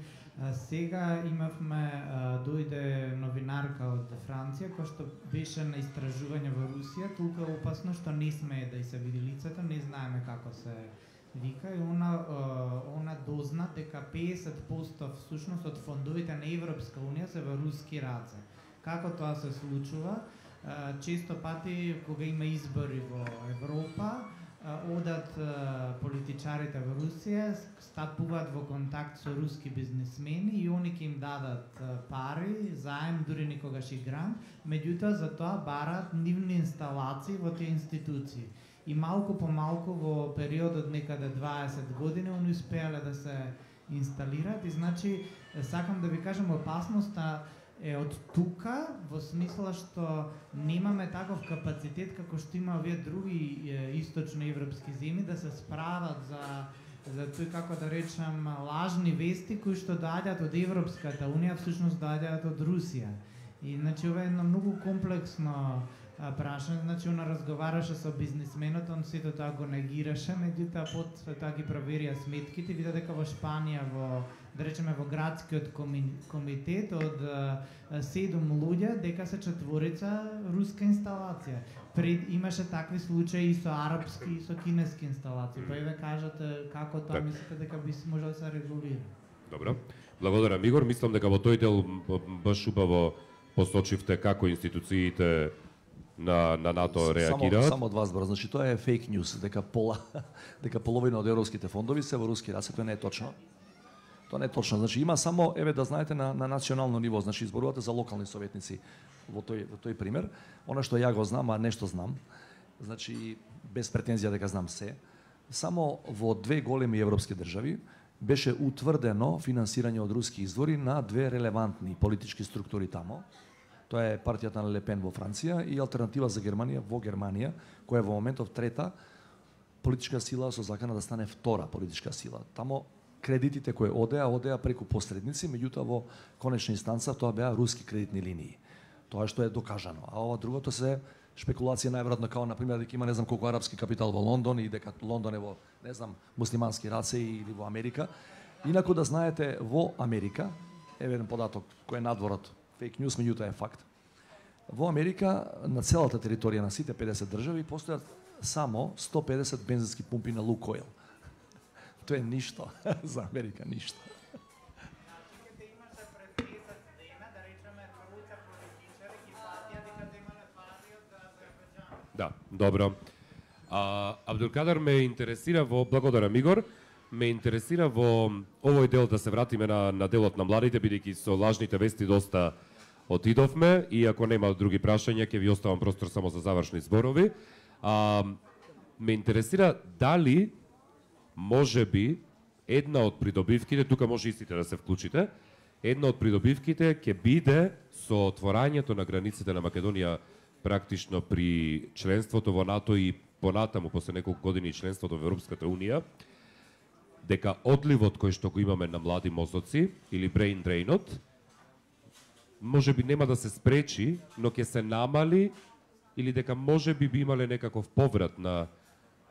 сега имавме, дојде новинарка од Франција, која што беше на истражување во Русија, толку е опасно што не смее да и се види лицето, не знаеме како се вика, и она дозна дека 50% всушност од фондовите на Европска унија се во руски раце. Како тоа се случува? Често пати кога има избори во Европа, одат политичарите во Русија, стапуваат во контакт со руски бизнисмени и они ќе им дадат пари, заем, дури никогаш и грант, меѓутоа за тоа бараат нивни инсталации во тие институции. И малку по малку во периодот некаде 20 години они успеале да се инсталираат и значи сакам да ви кажам опасноста е од тука, во смисла што немаме таков капацитет како што има овие други источноевропски земји да се справат за тој, како да речам, лажни вести кои што доаѓаат од Европската унија, всушност доаѓаат од Русија. И значи ова е едно многу комплексно прашање, значи она разговараше со бизнисменот, он сето тоа го негираше, меѓутоа потоа тоа ги проверија сметките, вида дека во Шпанија да речеме во градскиот комитет од 7 луѓе, дека се 4 руска инсталација. Имаше такви случаи и со арапски и со кинески инсталации. Па еве кажете како тоа мислите дека би можело да се регулира? Добро. Благодарам, Игор. Мислам дека во тој дел баш убаво посочивте како институциите на НАТО реагираат. Само од вас збор, значи тоа е фейк ньюс, дека половина од европските фондови се во руски раце, тоа не е точно. Тоа не е точно. Значи има само, еве да знаете, на национално ниво, значи изборувате за локални советници во тој пример. Она што ја го знам, а нешто знам, значи без претензија дека знам се, само во 2 големи европски држави беше утврдено финансирање од руски извори на 2 релевантни политички структури тамо. Тоа е партијата на Лепен во Франција и Алтернатива за Германија во Германија, која е во моментов трета политичка сила со закана да стане втора политичка сила. Тамо кредитите кои одеа преку посредници, меѓутоа во конечна инстанца тоа беа руски кредитни линии. Тоа што е докажано. А ова другото се шпекулација најверојатно као на пример дека има не знам колку арапски капитал во Лондон и дека Лондон е во не знам муслимански раце или во Америка. Инаку да знаете во Америка, еве еден податок кој е надворот, фейк ньюс, меѓутоа е факт. Во Америка на целата територија на сите 50 држави постојат само 150 бензински пумпи на Лукойл. Тоа е ништо за Америка, ништо. Да, добро. Абдулкадер ме интересира во, благодарам Игор, ме интересира во овој дел да се вратиме на делот на младите, бидејќи со лажните вести доста отидовме и ако нема други прашања ќе ви оставам простор само за завршни зборови. Ме интересира дали може би една од придобивките, тука може и сите да се вклучите, една од придобивките ќе биде со отворањето на границите на Македонија практично при членството во НАТО и понатаму после неколку години членството во Европската Унија, дека одливот кој што го имаме на млади мозоци или brain drainот може би нема да се спречи, но ќе се намали или дека може би имале некаков поврат на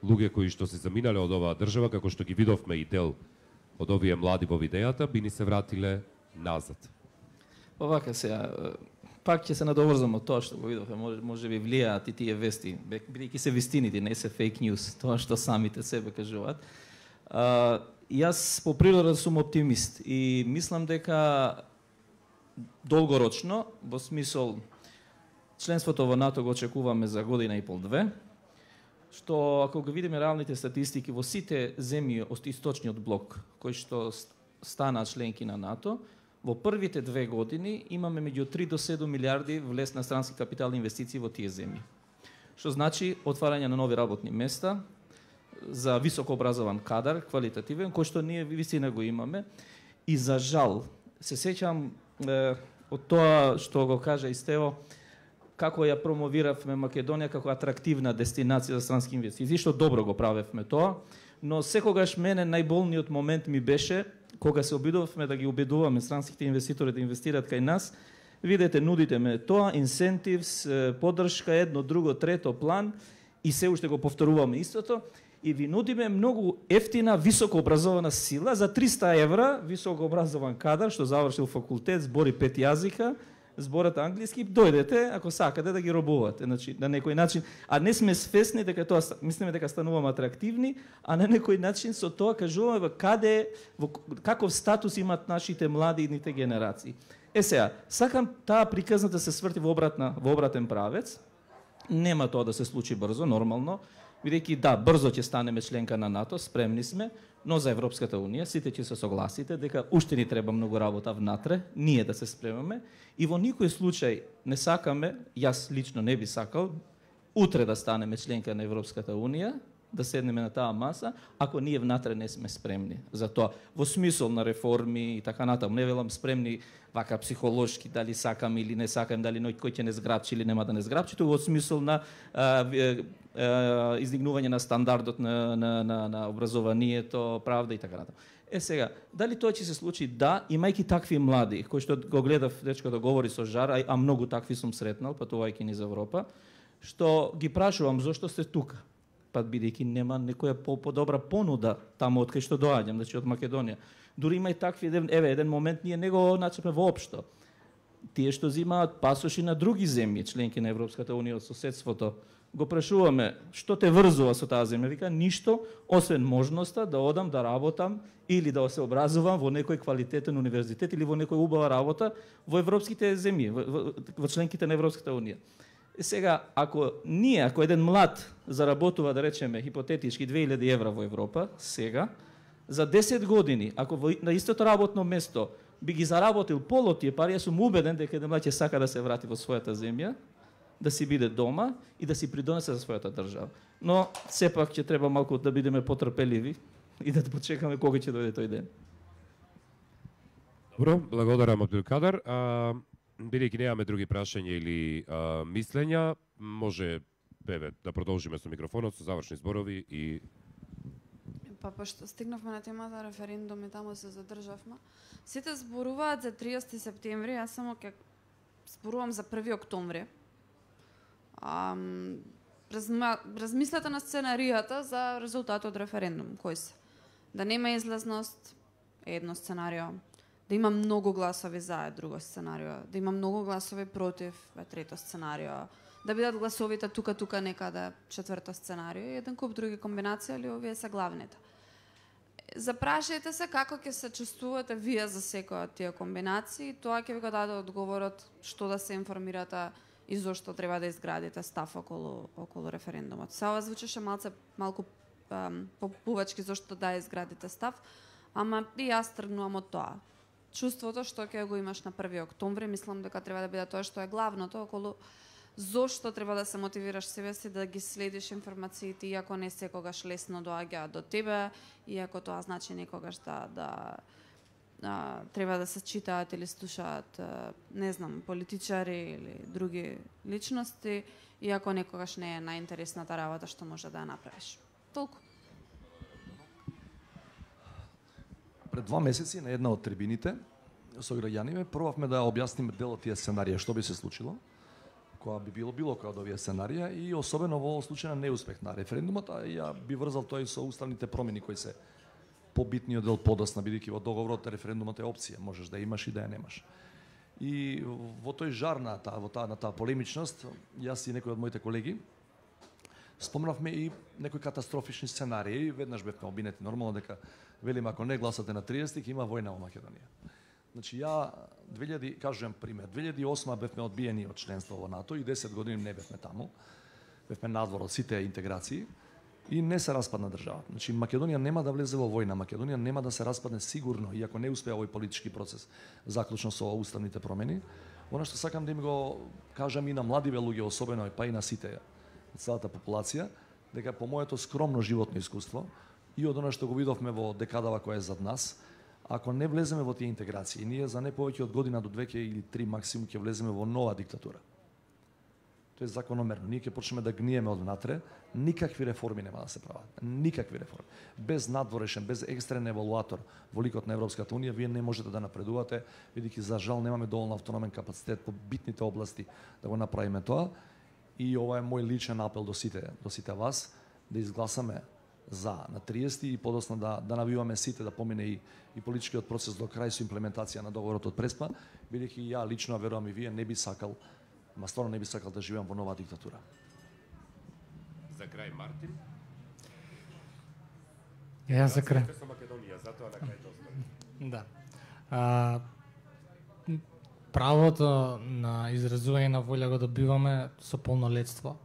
луѓе кои што се заминале од оваа држава, како што ги видовме и дел од овие млади во видејата, би ни се вратиле назад. Овака сега, пак ќе се надоврзам од тоа што го видовме, може би влијаат и тие вести, бидејќи се вистините, не се фейк ньюс, тоа што самите себе кажуваат. Јас по природа сум оптимист и мислам дека долгорочно, во смисол членството во НАТО го очекуваме за година и пол-две, што ако го видиме реалните статистики во сите земји од источниот блок кои што станаа членки на НАТО, во првите 2 години имаме меѓу 3 до 7 милиарди влез на странски капитални инвестиции во тие земји. Што значи отварање на нови работни места за високо образован кадар, квалитативен, кој што ние вистина го имаме. И за жал, се сеќам од тоа што го кажа и Стево, како ја промовиравме Македонија како атрактивна дестинација за странски инвестиции, што добро го правевме тоа, но секогаш мене најболниот момент ми беше кога се обидувавме да ги убедуваме странските инвеститори да инвестираат кај нас. Видете, нудите ме тоа, инсентивс, поддршка, едно, друго, трето, план и се уште го повторуваме истото и ви нудиме многу ефтина, високо образована сила за 300 евра, високо образован кадар што завршил факултет, збори 5 јазика, зборат англиски, дојдете ако сакате да ги робувате, значи на некој начин, а не сме свесни дека тоа мислиме дека стануваме атрактивни, а на некој начин со тоа кажуваме каде каков статус имаат нашите млади идните генерации. Сега, сакам таа приказната се сврти во обратен правец. Нема тоа да се случи брзо, нормално, бидејќи да, брзо ќе станеме членка на НАТО, спремни сме, но за Европската Унија сите ќе се согласите дека уште ни треба многу работа внатре, ние да се спремаме и во никој случај не сакаме, јас лично не би сакал, утре да станеме членка на Европската Унија, да седнеме на таа маса, ако ние внатре не сме спремни за тоа. Во смисол на реформи и така натаму, не велам спремни вака психолошки, дали сакам или не сакам, дали кој ќе не зграбчи или нема да не зграбчи, тоа во смисол на издигнување на стандардот на образованието, правда и така натаму. Сега, дали тоа ќе се случи? Да, имајќи такви млади, кои што го гледав, дечкото говори со жар, а многу такви сум сретнал, патувајќи низ Европа, што ги прашувам зошто сте тука? Па бидејќи нема некоја подобра понуда таму од кај што доаѓам, значи од Македонија. Дури има и такви, еден момент ние не го начепме воопшто. Тие што взимаат пасоши на други земји, членки на Европската Унија од соседството, го прашуваме што те врзува со таа земја, вика ништо освен можноста да одам да работам или да се образувам во некој квалитетен универзитет или во некоја убава работа во европските земји, во членките на Европската Унија. Сега, ако еден млад заработува, да речеме, хипотетички 2000 евра во Европа, сега, за 10 години, ако на истото работно место би ги заработил полот тие пари, јас сум убеден дека еден млад ќе сака да се врати во својата земја, да си биде дома и да си придонесе за својата држава. Но, сепак ќе треба малку да бидеме потрпеливи и да почекаме кога ќе дојде тој ден. Добро, благодарам Абдулкадер. Бидејќи немаме други прашања или мислења, може да продолжиме со микрофонот, со завршни зборови и... Па пошто стигнавме на темата референдум и таму се задржавме. Сите зборуваат за 30 септември, јас само ќе зборувам за 1 октомври. Размислете на сценаријата за резултатот од референдум, кои се. Да нема излезност е едно сценарио, да има многу гласови за е друго сценарио, да има многу гласови против е трето сценарио, да бидат гласовите тука некаде четврто сценарио и еден куп други комбинации, али овие се главните. Запрашајте се како ќе се чувствувате вие за секоја од тие комбинации, тоа ќе ви го даде одговорот што да се информирате и зошто треба да изградите став околу референдумот. Се ова звучеше малку попувачки зошто да изградите став, ама и јас тргнувам од тоа. Чувството што ќе го имаш на 1 октомври, мислам дека треба да биде тоа што е главното околу зошто треба да се мотивираш себе си да ги следиш информациите, иако не секогаш лесно доаѓаат до тебе, иако тоа значи некогаш да треба да се читаат или слушаат, не знам, политичари или други личности, иако некогаш не е најинтересната работа што може да ја направиш. Толку. Пред 2 месеци на една од трибините со граѓаните пробавме да објасниме дел од тие сценарија што би се случило, која би било која од овие сценарија и особено во случај на неуспех на референдумот, а ја би врзал тоа и со уставните промени кои се побитниот дел подосна, бидејќи во договорот референдумот е опција, можеш да имаш и да ја немаш. И во тој жар на таа полемичност, јас и некои од моите колеги спомнавме и некои катастрофични сценарии, веднаш бевме обвинети нормално дека велиме ако не гласате на 30 ќе има војна во Македонија. Значи ја кажувам пример, 2008 бевме одбиени од членство во НАТО и 10 години не бевме таму. Бевме надвор од сите интеграции и не се распадна државата. Значи Македонија нема да влезе во војна, Македонија нема да се распадне сигурно, иако не успеа овој политички процес, заклучно со уставните промени. Она што сакам да им го кажам и на младиве луѓе, особено па и на сите, целата популација, дека по моето скромно животно искуство и од она што го видовме во декадава која е зад нас, ако не влеземе во тие интеграции, ние за не повеќе од година до 2 или 3 максимум ќе влеземе во нова диктатура. Тоа е закономерно. Ние ќе почнеме да гниеме од внатре, никакви реформи нема да се прават. Никакви реформи. Без надворешен, без екстерен евалуатор во ликот на Европската унија, вие не можете да напредувате, бидејќи за жал немаме доволно автономен капацитет по битните области да го направиме тоа. И ова е мој личен апел до сите вас, да изгласаме за на 30 и подосна да навиваме сите да помине и политичкиот процес до крај со имплементација на договорот од Преспа, бидејќи ја лично верувам и вие не би сакал, стварно не би сакал да живеам во нова диктатура. За крај Мартин. Ја за крај. Со Македонија, затоа на крај тоа. Да. Правото на изразување на волја го добиваме со полнолетство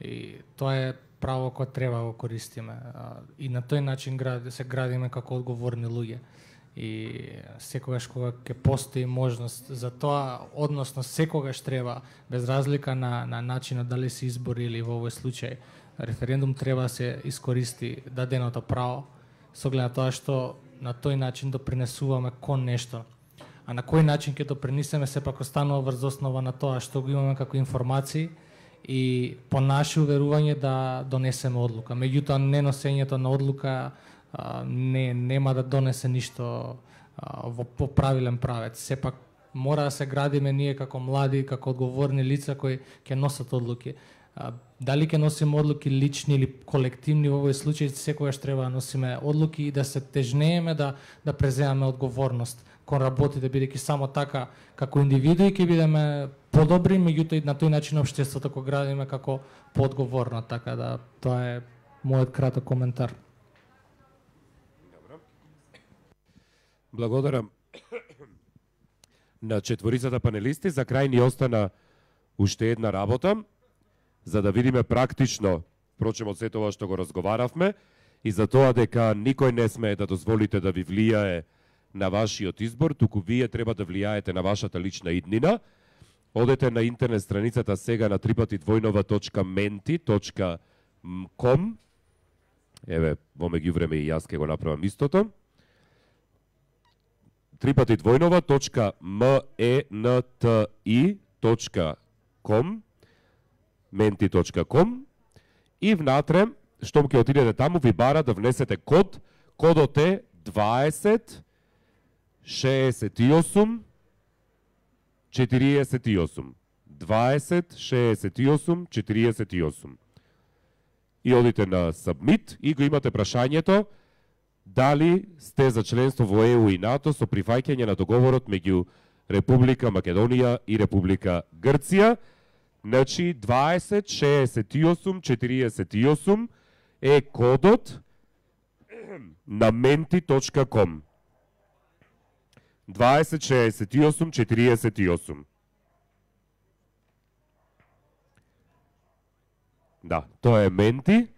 и тоа е право кое треба да го користиме и на тој начин се градиме како одговорни луѓе и секогаш кога ќе постои можност за тоа, односно секогаш треба, без разлика на начинот дали се избори или во овој случај референдум, треба да се искористи даденото право со оглед на тоа што на тој начин допринесуваме кон нешто. А на кој начин ќе допринесеме сепак останува врз основа на тоа што го имаме како информации и по наше уверување да донесеме одлука. Меѓутоа, неносењето на одлука нема да донесе ништо по правилен правец. Сепак мора да се градиме ние како млади, како одговорни лица кои ќе носат одлуки. Дали ќе носиме одлуки лични или колективни, во овој случај секогаш треба да носиме одлуки и да се тежнееме да преземаме одговорност кон работите, бидејќи само така како индивидуи ќе бидеме подобри, меѓутоа и на тој начин општеството го градиме како поодговорно, така да тоа е мојот краток коментар. Добро. Благодарам на четворицата панелисти. За крај ни остана уште една работа, за да видиме практично, впрочем од сето ова што го разговаравме, и за тоа дека никој не смее да дозволите да ви влијае на вашиот избор, туку вие треба да влијаете на вашата лична иднина. Одете на интернет страницата сега на www.menti.com. Еве, во меѓувреме и јас ќе го направам истото. www.menti.com menti.com и внатре, штом ќе отидете таму, ви бара да внесете кодот е 20 68 48 20 68 48. И одите на Submit и го имате прашањето дали сте за членство во ЕУ и НАТО со прифаќање на договорот меѓу Република Македонија и Република Грција. Значи 20 68 48 е кодот на menti.com. 20 68 48. Да, тоа е Менти.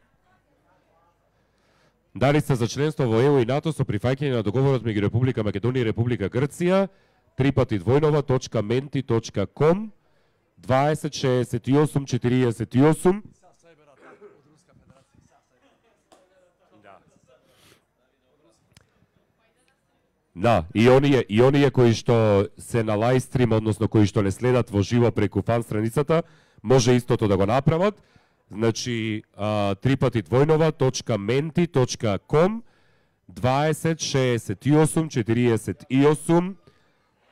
Дали сте за членство во ЕУ и НАТО со прифаќање на договорот меѓу Република Македонија и Република Грција, _menti.com, 20 68 48. Да, и оние кои што се на лајстрим, односно кои што не следат во живо преку фан страницата, може истото да го направат. Значи, _menti.com, 20 68 48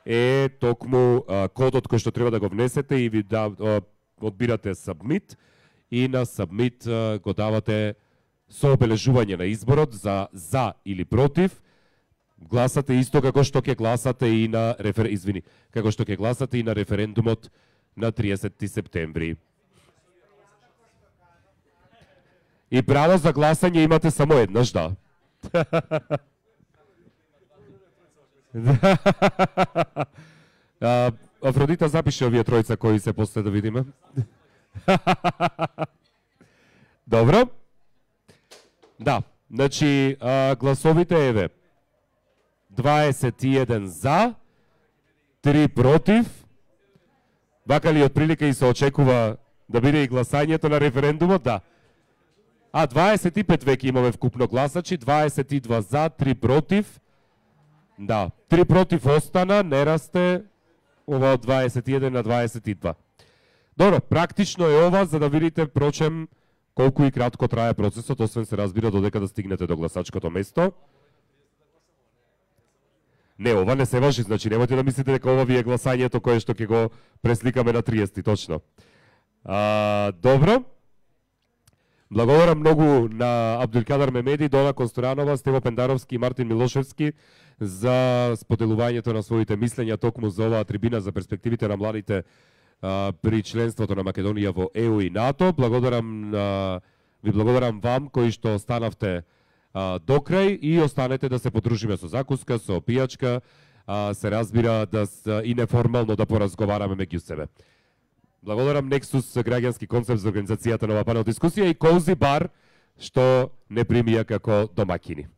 е токму кодот кој што треба да го внесете и ви одбирате Submit и на Submit го давате со обележување на изборот за или против. Гласате исто како што ќе гласате и на како што ќе гласате и на референдумот на 30 септември. И право за гласање имате само еднаш, да. Афродита, запиши овие тројца кои се после да видиме. Добро. Да, значи гласовите еве. 21 за, 3 против. Вака ли отприлика и се очекува да биде и гласањето на референдумот? Да. 25 веќе имаме вкупно гласачи, 22 за, 3 против. Да, 3 против остана, не расте ова од 21 на 22. Добро, практично е ова за да видите, прочем, колку и кратко трае процесот, освен се разбира додека да стигнете до гласачкото место. Не, ова не се важи, значи немојте да мислите дека ова ви е гласањето кое што ќе го пресликаме на 30, точно. Добро. Благодарам многу на Абдулкадир Мемеди, Дона Консторанова, Стево Пендаровски и Мартин Милошевски за споделувањето на своите мислења токму за оваа трибина за перспективите на младите при членството на Македонија во ЕУ и НАТО. Ви благодарам вам кои што останавте до крај и останете да се подружиме со закуска, со пијачка, се разбира и неформално да поразговараме меѓу себе. Благодарам Nexus граѓански концепт за организацијата на ова панел дискусија и Cozy Bar што не примија како домакини.